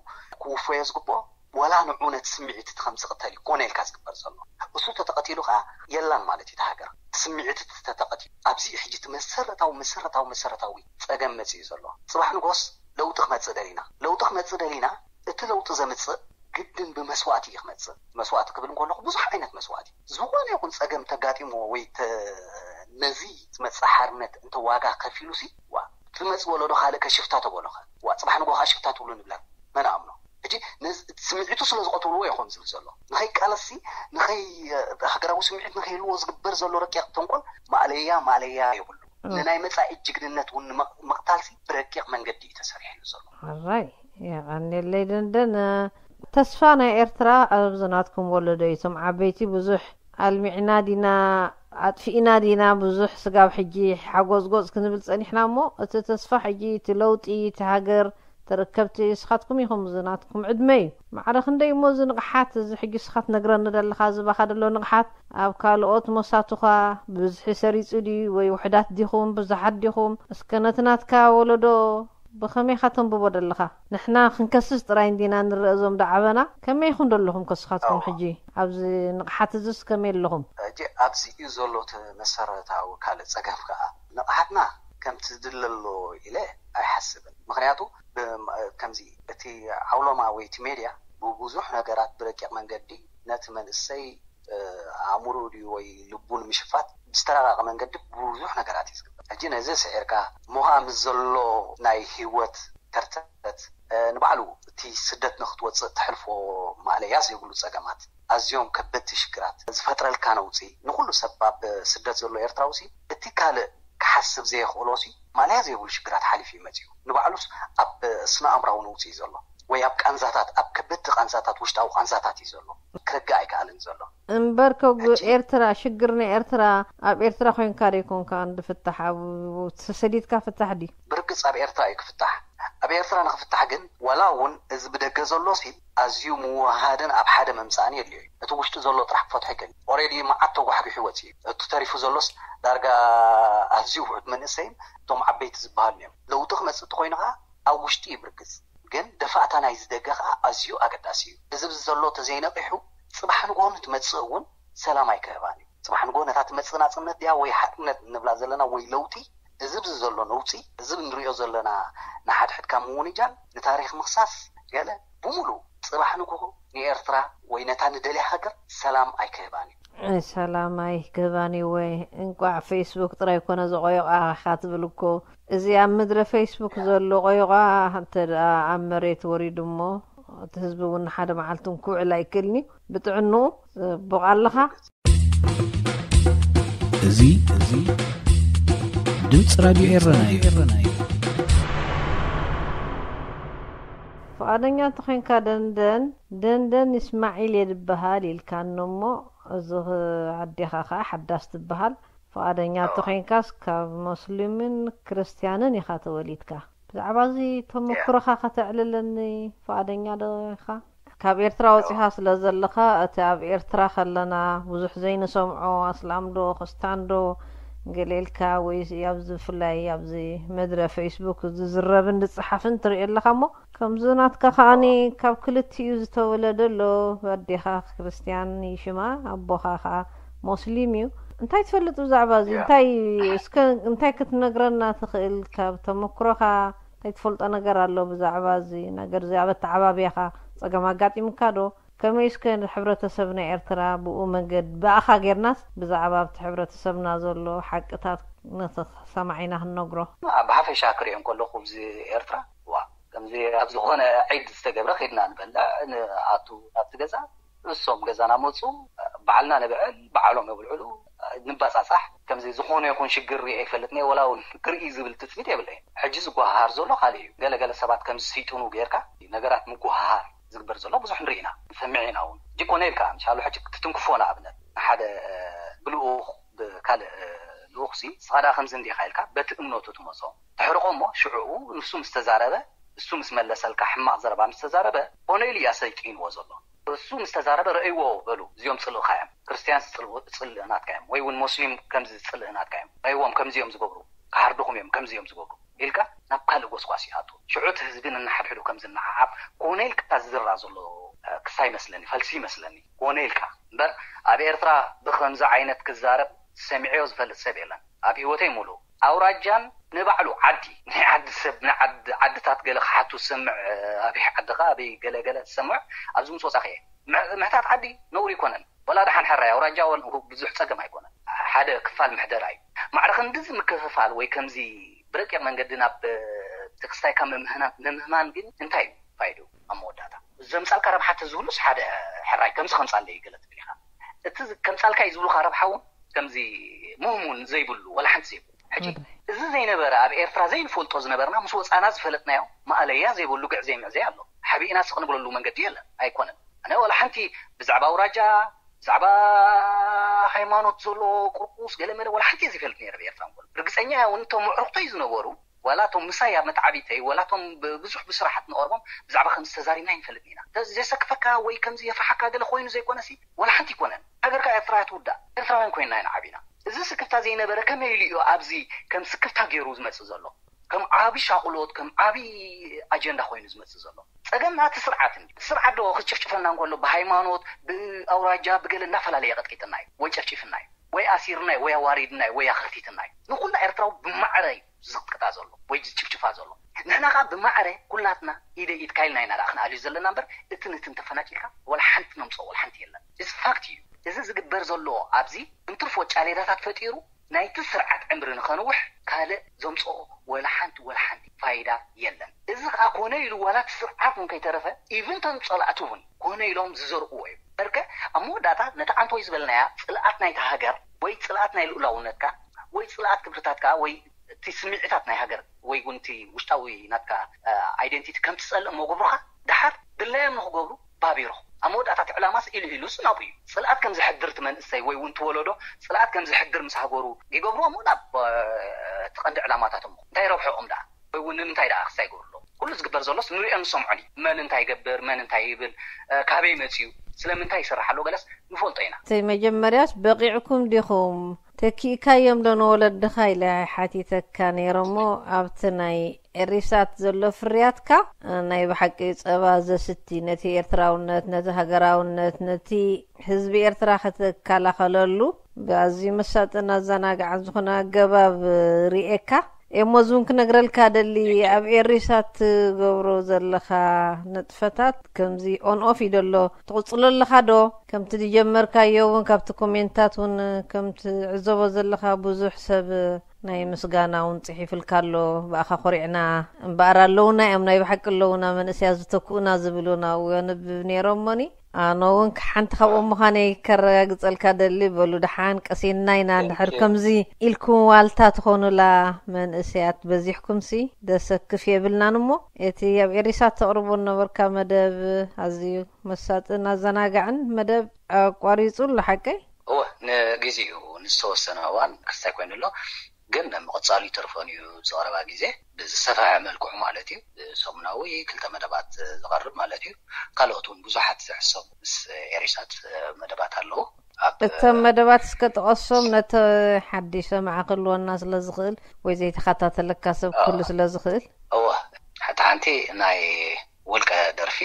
ክውፈዮ ዝግብኦ ዋላ ንዕኡ ነቲ ስምዒት እቲ ከምዚ ቅተል እዩ ኮነ ኢልካ ዝግበር ዘሎ። እሱ ተተቐቲሉ ከዓ የላን ማለት እዩ እቲ ሃገር። እቲ ስምዒት እቲ ተተቐቲሉ። ኣብዚ እዩ ሕጂ እቲ መሰረታዊ፣ መሰረታዊ፣ መሰረታዊ ጸገም መጺኡ ዘሎ። ጽባሕ ንጎስ ለውጢ ክመጽእ ደሊና። ለውጢ ክመጽእ ደሊና፣ እቲ ለውጢ ዘምጽእ ግድን ብመስዋእቲ እዩ ክመጽእ። መስዋእቲ ክብል እንከለኹ ብዙሕ ዓይነት መስዋእቲ። ዝኾነ ይኹን ጸገም ተጋጢምዎ ወይ ተ-፣ ነዚ ዝመጽእ ሓርነት እንተ ዋጋ ከፊሉሲ፣ ዋ፣ እቲ ዝመጽእ ወለዶ ካልእ ከ ሽፍታ ተበሎ ኸ? ዋ፣ ጽባሕ ንጎ ኸኣ ሽፍታ ትብሉ ንብላ። መን ኣምኖ? ሕጂ ነዚ ስምዒቱ ስለ ዝቐትልዎ እዩ ከምዚ ዝብል ዘሎ። ንኸይቃለስሲ፣ ንኸይ-፣ ሃገራዊ ስምዒት ንኸይህልዎ ዝግበር ዘሎ ረቂቕ ተንኮል ማእለያ፣ ማእለያ የብሉ። እም። ንናይ መጻኢ ጅግንነት እውን ንምቕ-፣ ምቕታልሲ ብረቂቕ መንገዲ እዩ ተሰሪሕሉ ዘሎ። ሕራይ፣ የቐንየለይ ደንደን። ተስፋ ናይ ኤርትራ ኣብዚ ናትኩም ወለዶ እዩ። እቶም ዓበይቲ ብዙሕ ኣልሚዕና ዲና፣ ኣጥፊእና ዲና፣ ብዙሕ ስጋብ ሕጂ ሓጎዝጎዝ ክንብል ጸኒሕና እሞ፣ እቲ ተስፋ ሕጂ፣ እቲ ለውጢ፣ እቲ ሃገር ተረከብቲ ንስኻትኩም ኢኹም። እዚ ናትኩም ዕድመ እዩ። ማዕረ ክንደይ እሞ እዚ ንቕሓት፣ እዚ ሕጂ ንስኻ ትነግረኒ ዘለኻ፣ ዝባኻ ዘሎ ንቕሓት ኣብ ካልኦት መሳቱኻ ብብዝሒ ሰሪጹ ድዩ ወይ ውሑዳት ዲኹም ብዙሓት ዲኹም? እስከ ነቲ ናትካ ወለዶ ብኸመይ ኢኻ ተንብቦ ዘለኻ? ንሕና ክንከስስ ጥራይ እንዲና ንርእ እዞም ደዓበና። ከመይ ኢኹም ደለኹም ከስኻትኩም ሕጂ ኣብዚ ንቕሓት እዚስ ከመይ ኣለኹም? ሕጂ ኣብዚ እዩ ዘሎ እቲ መሰረታዊ ካልእ ጸገም ከኣ። ንቕሓትና ከምቲ ዝድለ ኣሎ ኢለ ኣይሓስብን። ምኽንያቱ ብ-፣ ከምዚ እቲ ዓውሎማ ወይ እቲ ሜድያ ብብዙሕ ነገራት ብረቂቕ መንገዲ ነቲ መንእሰይ፣ እ፣ ኣእምሮ ድዩ ወይ ልቡ ንምሽፋት ብዝተራቐቐ መንገዲ ብዙሕ ነገራት እዩ ዝግበር። ሕጂ ነዚ ስዒርካ ሞሃ ምስ ዘሎ ናይ ህይወት ከርተት፣ እ፣ ንባዕሉ እቲ ስደት ንክትወፅእ ተሕልፎ ማእለያ ዘይብሉ ፀገማት፣ ኣዝዮም ከበድቲ ሽግራት ዝፈጥረልካ ነውፂ፣ ንኩሉ ሰብ ኣብ ስደት ዘሎ ኤርትራዊ ሲ እቲ ካልእ ክሓስብ ዘየኽእሎ ሲ ማእለያ ዘይብሉ ሽግራት ሓሊፉ እዩ መፂኡ። ንባዕሉስ ኣብ ስነ ኣእምራዊ ነውፂ እዩ ዘሎ፣ ወይ ኣብ ቃንዛታት፣ ኣብ ከበድቲ ቃንዛታት፣ ውሽጣዊ ቃንዛታት እዩ ዘሎ። ክርጋእ ኣይከኣልን ዘሎ። እምበር ከ ሕጂ ኤርትራ፣ ሽግር ናይ ኤርትራ ኣብ ኤርትራ ኮይንካ ዶ ይኮንካ እንድፍታሕ? ኣብ ተሰዲድካ ፍታሕ ድዩ? ብርግጽ ኣብ ኤርትራ እዩ ክፍታሕ። ኣብ ኤርትራ ንክፍታሕ ግን ዋላ እውን እዚ ብደገ ዘሎ ሲ ኣዝዩ ምውሃድን ኣብ ሓደ ምምጻእን የድልዮ እዩ። እቲ ውሽጢ ዘሎ ጥራሕ ክፈትሖ ይክእል። ኦሬዲ መዓት ተጓሕጒሑ ወጺኡ እዩ። እቲ ተሪፉ ዘሎስ ዳርጋ ኣዝዩ ውሑድ መንእሰይን እቶም ዓበይቲ ዝበሃሉ እዮም። ለውጢ ክመጽእ እንተኮይኑ ከኣ ኣብ ውሽጢ እዩ ብርግጽ። ግን ደፋእታ ናይዚ ደገ ከኣ ኣዝዩ ኣገዳሲ እዩ። እዚ ብዚ ዘሎ ተዘይነቒሑ ጽባሕ ንግሆ ንትመጽእ እውን ሰላም ኣይክህባን እዩ። ጽባሕ ንግሆ ነታ ትመጽእ ናጽነት ድያ ወይ ሓርነት እንብላ ዘለና ወይ ለውጢ፣ እዚ ብዚ ዘሎ ነውጺ፣ እዚ ንሪኦ ዘለና ንሓድሕድካ ምውንጃል፣ ንታሪኽ ምኽሳስ፣ ገለ ብምሉእ ጽባሕ ንግሆ ንኤርትራ ወይ ነታ ንደልያ ሃገር ሰላም ኣይክህባን እዩ። ሰላም ኣይክህባን እዩ ወይ? እንቋዕ ፌስቡክ ጥራይ ኮነ ዘቆየቋ ኢኻ ትብል እኮ። እዚ ኣብ ምድረ ፌስቡክ ዘሎ ቆይቋ እንተ ደኣ ኣብ መሬት ወሪዱ እሞ፣ እቲ ህዝቢ እውን ንሓደ መዓልቲ እውን ክውዕል ኣይክእልን እዩ። ብጥዕንኡ ጽቡቕ ኣለኻ። እዚ፣ እዚ ድምፂ ራድዮ ኤረና እዩ። ፍቓደኛ እንተኾይንካ ደንደን፣ ደንደን እስማዒል እየ ዝበሃል ኢልካኒ እሞ፣ እዚ ኽ-፣ ኣዴኻ ኸዓ ሓዳስ ትበሃል። ፍቓደኛ እወ። እንተኾይንካስ ካብ ሞስሊምን ክርስትያንን ኢኻ ተወሊድካ። ብዛዕባ እዚ ተመክሮኻ ከተዕልለኒ ፍቓደኛ ዶ ኢኻ? ካብ ኤርትራ ወጺኻ ስለ ዘለኻ፣ እቲ ኣብ ኤርትራ ከለና ብዙሕ ዘይንሰምዖ፣ ኣስላም ዶ፣ ክርስታን ዶ፣ ገለ ኢልካ፣ ወይ ኣብዚ ብፍላይ ኣብዚ መድረ ፌስቡክ ዝዝረብን ዝጸሓፍን ትርኢ ኣለኻ እሞ፣ ከምዚ ናትካ ከኣኒ ካብ ክልቲኡ ዝተወለደ ኣሎ፣ ኣዴኻ ክርስትያን እዩ ሽማ፣ ኣቦኻ ከኣ ሞስሊም እዩ። እንታይ ትፈልጥ ብዛዕባ እዚ? ያ። እንታይ፣ እስከ እንታይ ክትነግረና ትኽእል ካብ ተመክሮኻ? እንታይ ትፈልጦ ነገር ኣሎ ብዛዕባ እዚ ነገር እዚ? ኣብ ኣተዓባብያኻ ጸገም ኣጋጢሙካ ዶ? ከመይ እስከ ንሕብረተሰብ ናይ ኤርትራ ብኡ መንገድ ብኣኻ ጌርናስ ብዛዕባ ኣብቲ ሕብረተሰብና ዘሎ ሓቅታት ነቲ ሰማዒና ክንነግሮ? ኣብ ሓፈሻ ክሪኦ እንከለኹ፣ ኣብዚ ኤርትራ፣ ዋ፣ ከምዚ ኣብ ዝኾነ ዒድ ዝተገብረ፣ ኸድና ንበልዕ፣ ንኣቱ ናብቲ ገዛ፣ ንሶም ገዛና መጹ፣ በዓልና ንብዕል፣ በዓሎም የብልዕሉ፣ ንባጻጻሕ። ከምዚ ዝኾነ ይኹን ሽግር ሪኤ ይፈልጥን እየ፣ ወላ እውን ክርኢ ዝብል ትጽቢት የብለይን። ሕጂ ዝጓሃሃር ዘሎ ካልእ እዩ። ገለ ገለ ሰባት ከምዚ ስይጥኑ ጌርካ ነገራት ምጉሃሃር ዝግበር ዘሎ ብዙሕ ንርኢ ኢና፣ ንሰምዕ ኢና እውን። ሕጂ ኮነ ኢልካ፣ ምሻሉ ሕጂ ክትትንክፎ ንኣብነት ንሓደ፣ እ፣ ብልኡኽ ብካልእ፣ እ፣ ልኡኽሲ፣ ንስኻ ደኣ ከምዚ እንዲኻ ኢልካ በቲ እምነቱ ትመጾ። ተሕርቆ እሞ ሽዕኡ ንሱ ምስ ተዛረበ፣ እሱ ምስ መለሰልካ፣ ሕማቕ ዘረባ ምስ ተዛረበ፣ ኮነ ኢሉ እያ ሰይጢንዎ ዘሎ። እሱ ምስ ተዛረበ፣ "ረእይዎ በሉ፣ እዚኦም ጽልእኻ እዮም፣ ክርስትያንስ ጽልእ-፣ ጽልእ ናትካ እዮም፣ ወይ እውን ሞስሊም ከምዚ ጽልእ ናትካ እዮም፣ ረእይዎም፣ ከምዚ እዮም ዝገብሩ፣ ክሓርድኹም እዮም፣ ከምዚ እዮም ዝገብሩ" ኢልካ ናብ ካልእ ጎስጓስ ይኣቱ። ሽዑ እቲ ህዝቢ ነንሓድሕዱ ከም ዝነዓዓብ ኮነ ኢልካ ዝዝራ ዘሎ፣ እ፣ ክሳ ይመስለኒ፣ ፈልሲ ይመስለኒ፣ ኮነ ኢልካ። እምበር ኣብ ኤርትራ ብኸምዚ ዓይነት ክዛረብ ሰሚዐዮ ዝፈልጥ ሰብ የለን፣ ኣብ ህይወተይ ሙሉእ። ኣውራጃን ንባዕሉ ዓዲ፣ ናይ ዓዲ ሰብ፣ ናይ ዓዲ፣ ዓድታት ገለ ክሓቱ ዝሰምዕ፣ እ፣ ኣበይ ዓድኻ፣ ኣበይ ገለ ገለ ዝሰምዕ፣ ኣብዚ ምስ ወጻኺ እየ። ምሕ-፣ ምሕታት ዓዲ ነውሪ ኣይኮነን። ወላ ደሓን ሕራይ ኣውራጃ ወን-፣ ብዙሕ ጸገም ኣይኮነን። ሓደ ክፋል ምሕደራ እዩ። ማዕረ ክንድዚ ምክፍፋል ወይ ከምዚ ብረቂቕ መንገዲ ናብ፣ እ፣ ተክስታይካ ምምህና-፣ ምምህማን ግን እንታይ እዩ ፋይድኡ ኣብ መወዳእታ? ዘምጻልካ ረብሓ ተዝህሉስ ሓደ ሕራይ ከምዚ ከምጻለይ ገለ ትብል ኢኻ። እቲ ዝ-፣ ከምጻልካ እዩ ዝብሉኻ ረብሓ እውን ከምዚ ምህሙን ዘይብሉ ወላ ሓንቲ ዘይብሉ። ሕጂ ወላሂ። እዚ ዘይነበረ ኣብ ኤርትራ ዘይንፈልጦ ዝነበርና ምስ ወጻና ዝፈለጥናዮ ማእለያ ዘይብሉ ግዕ ዘይምዕዘይ ኣሎ። ሓቢእና ስቕ ንብለሉ መንገዲ የለን፣ ኣይኮነን። ኣነ ወላ ሓንቲ ብዛዕባ ኣውራጃ፣ ብዛዕባ ሃይማኖት ዘሎ ቁርቁስ ገለመለ ወላ ሓንቲ እየ ዘይፈልጥ ነይረ ብኤርትራ እንኮሎ። ርግጸኛ እየ እውን እቶም ኣዕሩኽተይ ዝነበሩ ዋላ እቶም ምሳይ ኣብ መተዓቢተይ ዋላ እቶም ብዙሕ ብስራሓት ንቐርቦም ብዛዕባ ከምዚ ተዛሪብና ይንፈልጥ ኢና። ዘሰክፈካ ወይ ከምዚ የፍርሓካ ገለ ኮይኑ ዘይኮነሲ ዋላ ሓንቲ ኣይኮነን። ሃገርካ ኤርትራ ትውዳእ። ኤርትራውያን ኮይንና ኢና ዓቢና። እዚ ስክፍታ ዘይነበረ ከመይ ኢሉ እዩ ኣብዚ ከም ስክፍታ ገይሩ ዝመጽእ ዘሎ? ከም ዓቢ ሻቕሎት ከም ዓቢ ኣጀንዳ ኮይኑ ዝመጽእ ዘሎ? ጸገም ናቲ ስርዓት እንዲ ስርዓት ዶ ክጭፍጭፈና እንከሎ ብሃይማኖት ብኣውራጃ ብገለ እናፈላለየ ቀጥቂጥና እዩ ወይ ጨፍጭፍና እዩ ወይ ኣሲርና እዩ ወይ ኣዋሪድና እዩ ወይ ኣኸርቲትና እዩ። ንኹላ ኤርትራዊ ብማዕረ እዩ ዝቕጥቅጣ ዘሎ ወይ ዝጭፍጭፋ ዘሎ። ንሕና ከዓ ብማዕረ ኩላትና ኢደ ኢድ ካይልና ኢና ደኣ ክንኣልዩ ዘለና እምበር እቲ ንትን ተፈናቂልካ ወላ ሓንቲ ነምፅኦ ወላ ሓንቲ የለን። እዚ ፋክት እዩ። እዚ ዝግበር ዘሎ ኣብዚ እንትርፎ ጫሌዳታት ፈጢሩ ናይቲ ስርዓት ዕምሪ ንኸንውሕ ካልእ ዘምፅኦ ወላ ሓንቲ ወላ ሓንቲ ፋይዳ የለን። እዚ ከዓ ኮነ ኢሉ ዋላ እቲ ስርዓት እውን ከይተረፈ ኢቭን ቶም ፀላእቲ እውን ኮነ ኢሎም ዝዘርእዎ እዩ። በርከ ኣብ መወዳእታ ነቲ ዓንቶይ ዝበልናያ ፅልኣት ናይታ ሃገር ወይ ፅልኣት ናይ ልኡላውነትካ ወይ ፅልኣት ክብርታትካ ወይ እቲ ስምዒታት ናይ ሃገር ወይ እውን እቲ ውሽጣዊ ናትካ ኣይደንቲቲ ከም ትፀልእ መገብሩኻ ደሓር ድላዮም ንክገብሩ ባቢሮም ኣብ መወዳእታ እቲ ዕላማስ ኢሉ ኢሉስ ናብኡ እዩ። ፅልኣት ከም ዘሕድር እቲ መንእሰይ ወይ እውን ትወለዶ ፅልኣት ከም ዘሕድር ምስ ሃገሩ ይገብርዎ እሞ ናብ እቲ ቀንዲ ዕላማታቶም እንታይ ረብሐኦም ደኣ ወይ እውን ንምንታይ ደኣ ክሳይ ይገብሩ ኣለዉ? ኩሉ ዝግበር ዘሎስ ንሪኦን ንሰምዖን እዩ። መን እንታይ ይገብር፣ መን እንታይ ይብል፣ ካበይ መፅዩ፣ ስለምንታይ ይሰርሕ ኣሎ ገለስ ንፈልጦ ኢና። እቲ መጀመርያስ በቂዕኩም ዲኹም? ተኪእካዮም ዶ ንወለድኻ ኢለ ሓቲተካ ነይረ እሞ ኣብቲ ናይ ኤሪሳት ዘሎ ፍርያትካ ናይ ብሓቂ ጸባ ዘስቲ ነቲ ኤርትራውነት ነቲ ሃገራውነት ነቲ ህዝቢ ኤርትራ ክትከላኸለሉ ብኣዝዩ መሳጥን ኣዘናጋዕን ዝኾነ ኣገባብ ርኤካ። እሞ እዚ እውን ክነግረልካ ደሊ ኣብ ኤሪሳት ትገብሮ ዘለኻ ንጥፈታት ከምዚ ኦን ኦፍ እዩ ደሎ ትቕጽሎ ኣለኻ ዶ? ከምቲ ዝጀመርካዮ እውን ካብቲ ኮሜንታት እውን ከም ትዕዘቦ ዘለኻ ብዙሕ ሰብ ናይ ምስጋና እውን ጽሒፍልካ ኣሎ። ብኣኻ ኮሪዕና እምበኣር ኣለውና እዮም ናይ ብሓቂ ኣለውና መንእሰያት ዝተክኡና ዝብሉና እው የንብብ ነይሮሞኒ። ኣነ እውን ሓንቲ ካብኦም ምዃነይ ከረጋግጸልካ ደሊ በሉ ደሓን ቀሲንና ኢና እንድሕር ከምዚ ኢልኩም ዋልታ ትኾኑላ መንእሰያት በዚሕኩምሲ ደሰክፍ የብልናን እሞ እቲ ኣብ ኤሪሳት ተቕርቦ ነበርካ መደብ ኣዝዩ መሳጥን ኣዘናጋዕን መደብ ኣቋሪጹ ኣሎ ሓቀይ? እወ ንግዜኡ ንዝተወሰነ እዋን ክስታይ ኮይኑ ኣሎ ግን ምቕጻሉ ይተርፎን እዩ ዝቐረባ ግዜ ብዝሰፍሐ መልክዑ ማለት እዩ ብሰሙናዊ ክልተ መደባት ዝቐርብ ማለት እዩ ካልኦት እውን ብዙሓት ዝሕሰቡ ምስ ኤሪሳት መደባት ኣለዉ እቶም መደባት እስከ ጥቀሶም ነቲ ሓዲሽ ሰማዒ ክህልወና ስለ ዝኽእል ወይ ዘይተኸታተለካ ሰብ ክህሉ ስለ ዝኽእል እወ ሓንቲ ሓንቲ ናይ ውልቀ ደርፊ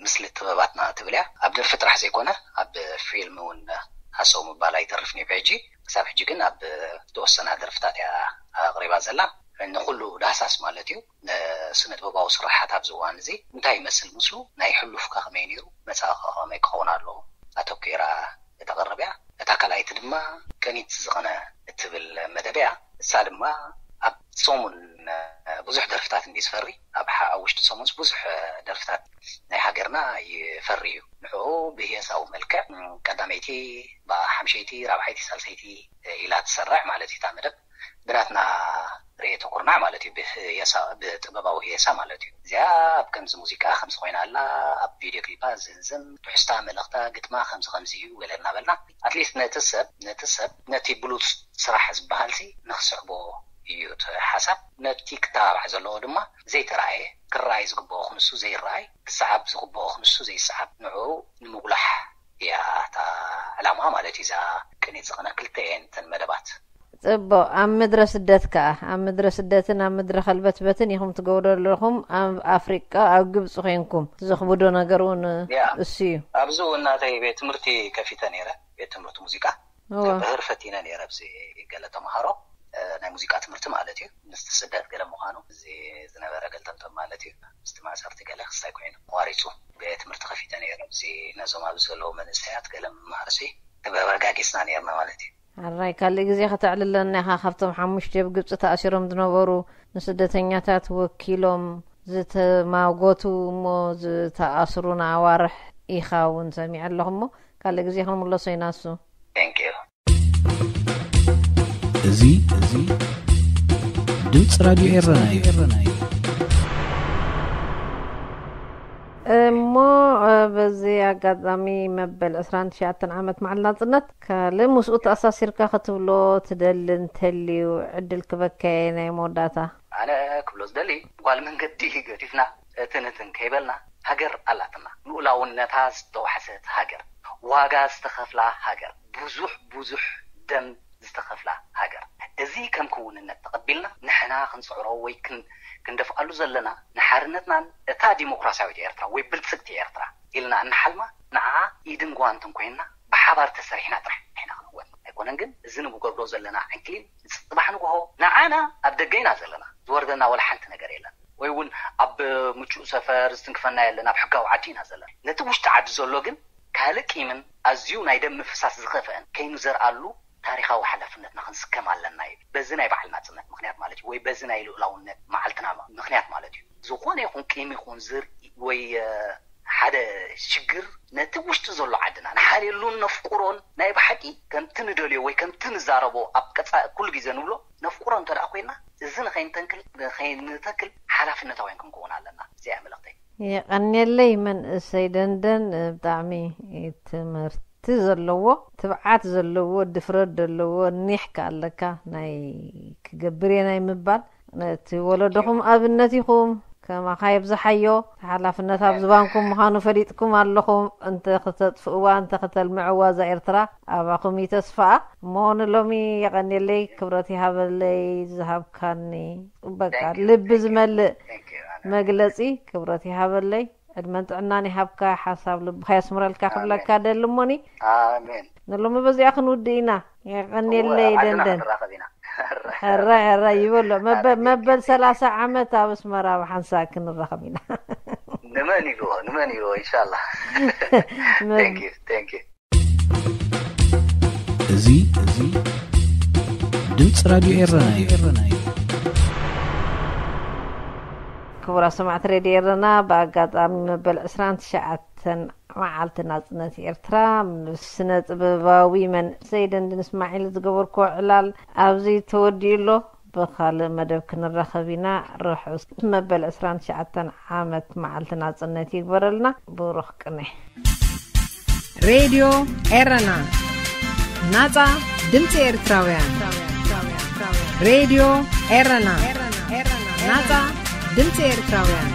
ምስሊ ጥበባትና ትብል እያ ኣብ ደርፊ ጥራሕ ዘይኮነ ኣብ ፊልም እውን ሃሰው ምባል ኣይተርፍን እዩ ብሕጂ ክሳብ ሕጂ ግን ኣብ ዝተወሰና ደርፍታት እያ ኣቕሪባ ዘላ ንኩሉ ዳህሳስ ማለት እዩ ንስነ ጥበባዊ ስራሓት ኣብዚ እዋን እዚ እንታይ ይመስል ምስሉ ናይ ሕሉፍካ ከመይ ነይሩ መፃእካ ከመይ ክኸውን ኣለዎ ኣተኪራ እተቕርብ እያ እታ ካልኣይቲ ድማ ቅኒት ዝቐነ እትብል መደብ እያ እሳ ድማ ኣብ ሰሙን ብዙሕ ደርፍታት እንዲ ዝፈሪ ኣብ ኣብ ውሽጢ ሰሙንስ ብዙሕ ደርፍታት ናይ ሃገርና ይፈሪ እዩ ንዕኡ ብህየሳዊ መልክዕ ቀዳመይቲ ሓምሸይቲ ራብዓይቲ ሳልሰይቲ ኢላ ትሰርዕ ማለት እዩ እታ መደብ ብናትና ርእየተ ኩርናዕ ማለት እዩ ብጥበባዊ ህየሳ ማለት እዩ እዚኣ ኣብ ከምዚ ሙዚቃ ከምዚ ኮይና ኣላ ኣብ ቪድዮ ክሊፓ ዝንዝም ትሕስታ መልእኽታ ግጥማ ከምዚ ከምዚ እዩ ገለ እናበልና ኣትሊስት ነቲ ሰብ ነቲ ሰብ ነቲ ብሉፅ ስራሕ ዝበሃል ሲ ንክስዕቦ እዩ እቲ ሓሳብ ነቲ ክተባባዕ ዘለዎ ድማ ዘይተረኣየ ክረኣይ ዝግብኦ ክንሱ ዘይረኣይ ክሰዓብ ዝግብኦ ክንሱ ዘይሰዓብ ንዕኡ ንምጉላሕ እያ እታ ዕላማ ማለት እዩ እዛ ቅኒት ዝቕነ ክልተ እየን እተን መደባት ጽቡቕ ኣብ ምድረ ስደት ከኣ ኣብ ምድረ ስደትን ኣብ ምድረ ከልበትበትን ኢኹም ትገብሩ ኣለኹም ኣብ ኣፍሪቃ ኣብ ግብፂ ኮንኩም ዘኽብዶ ነገር እውን እሱ እዩ ኣብዚ እውን ናተይ ቤት ትምህርቲ ከፊተ ነይረ ቤት ትምህርቲ ሙዚቃ ብህር ፈቲነ ነይረ ኣብዚ ገለ ተምሃሮ ናይ ሙዚቃ ትምህርቲ ማለት እዩ ምስቲ ስደት ገለ ምዃኑ እዚ ዝነበረ ገልጠምጠም ማለት እዩ ምስቲ ማእሰርቲ ገለ ክስታይ ኮይኑ ኣቋሪፁ ቤት ትምህርቲ ከፊተ ነይረ እዚ ነዞም ኣብዚ ዘለዉ መንእሰያት ገለ ምምሃርሲ ተበረጋጊፅና ነይርና ማለት እዩ ኣራይ ካልእ ግዜ ከተዕልለና ኢኻ ካብቶም ሓሙሽተ ኣብ ግብፂ ተኣሲሮም ዝነበሩ ንስደተኛታት ወኪሎም ዝተማጎቱ እሞ ዝተኣስሩ ንኣዋርሕ ኢኻ እውን ሰሚዐ ኣለኹ እሞ ካልእ ግዜ ክንምለሶ ኢና እሱ እዚ እዚ ድምፂ ራድዮ ኤረና እዩ። እሞ በዚ ኣጋጣሚ መበል ዕስራን ትሽዓተን ዓመት መዓል ናፅነት ካልእ ምስኡ ተኣሳሲርካ ክትብሎ ትደሊ እንተልዩ ዕድል ክበከየ ናይ መወዳእታ ኣነ ክብሎ ዝደሊ፣ ጓል መንገዲ ገዲፍና፣ እቲ ንትን ከይበልና፣ ሃገር ኣላትና፣ ልኡላውነታ ዝተዋሕሰት ሃገር፣ ዋጋ ዝተኸፍላ ሃገር፣ ብዙሕ ብዙሕ ደም ዝተኸፍላ ሃገር። እዚ ከም ክውንነት ተቐቢልና ንሕና ክንፅዕሮ ወይ ክንደፍኣሉ ዘለና፣ ንሓርነትናን እታ ዲሞክራሲያዊት ኤርትራ ወይ ብልፅግቲ ኤርትራ ኢልና እንሓልማ፣ ንዓ ኢድን ጓንትን ኮይንና ብሓባር ተሰሪሕና ጥራሕ ኢና ክንወን። ኣይኮነን ግን፣ እዚ ንገብሮ ዘለና ዕንክሊል ንፅባሕ ንግሆ ንዓና ኣብ ደገ ኢና ዘለና፣ ዝወርደና ወላ ሓንቲ ነገር የለን። ወይ እውን ኣብ ምቹእ ሰፈር ዝትንክፈና የለን፣ ኣብ ሕጋዊ ዓዲ ኢና ዘለና። ነቲ ውሽጢ ዓዲ ዘሎ ግን ካልእ ቂምን ኣዝዩ ናይ ደም ምፍሳስ ዝኸፍአን ከይንዘርኣሉ ታሪኻዊ ሓላፍነትና ክንስከም ኣለና እዩ። በዚ ናይ በዓል ናጽነት ምኽንያት ማለት እዩ፣ ወይ በዚ ናይ ልኡላውነት መዓልትና ምኽንያት ማለት እዩ። ዝኾነ ይኹን ቂም ይኹን ዝር ወይ ሓደ ሽግር ነቲ ውሽጢ ዘሎ ዓድና ንሓልየሉን ነፍቁሮን፣ ናይ ብሓቂ ከምቲ ንደልዮ ወይ ከምቲ ንዛረቦ ኣብ ቀፃ ኩሉ ግዜ ንብሎ ነፍቁሮ እንተ ደኣ ኮይና፣ እዚ ንኸይንተንክል ንኸይንተክል ሓላፍነታውያን ክንከውን ኣለና። እዚኣ መልእኽተይ። የቐንየለይ መንእሰይ ደንደን፣ ብጣዕሚ ትምህርቲ ዘለዎ፣ ትብዓት ዘለዎ፣ ድፍረት ዘለዎ፣ ኒሕ ከኣለካ ናይ ክገብር እየ ናይ ምባል፣ ነቲ ወለዶኹም ኣብነት ኢኹም። ከማኻ የብዝሓዮ። ሓላፍነት ኣብ ዝባንኩም ምዃኑ ፈሊጥኩም ኣለኹም። እንተ ክተጥፍእዋ፣ እንተ ክተልምዕዋ እዛ ኤርትራ ኣባኹም እዩ ተስፋኣ። እሞ ንሎሚ የቐንየለይ፣ ክብረት ይሃበለይ ዝሃብካኒ በቃ ልቢ ዝመልእ መግለጺ። ክብረት ይሃበለይ፣ ዕድመን ጥዕናን ይሃብካ፣ ሓሳብ ልብኻ የስምረልካ ክብለካ ደሊ። እሞኒ ኣሜን። ንሎሚ በዚኣ ክንውድእ ኢና። የቐንየለይ ደንደን። ሕራይ ሕራይ ይበሎ። መበል ሰላሳ ዓመት ኣብ ኣስመራ ብሓንሳእ ክንራኸብ ኢና። ንመን ኢልዎ፣ ንመን ኢልዎ። ኢንሻላ። እዚ ድምፂ ራድዮ ኤረና እዩ። ክቡራት ሰማዕቲ ሬድዮ ኤረና፣ ብኣጋጣሚ መበል ዕስራን ትሽዓተን መዓልቲ ናጽነት ኤርትራ፣ ምስ ስነ ጥበባዊ መንእሰይ ደንድን እስማዒል ዝገበርክዎ ዕላል ኣብዚ ተወዲኡ ኣሎ። ብኻልእ መደብ ክንራኸብ ኢና። ርሑስ መበል ዕስራን ትሽዓተን ዓመት መዓልቲ ናጽነት ይግበረልና። ብሩኽ ቅነ። ሬድዮ ኤረና፣ ናጻ ድምጺ ኤርትራውያን። ሬድዮ ኤረና፣ ናጻ ድምጺ ኤርትራውያን።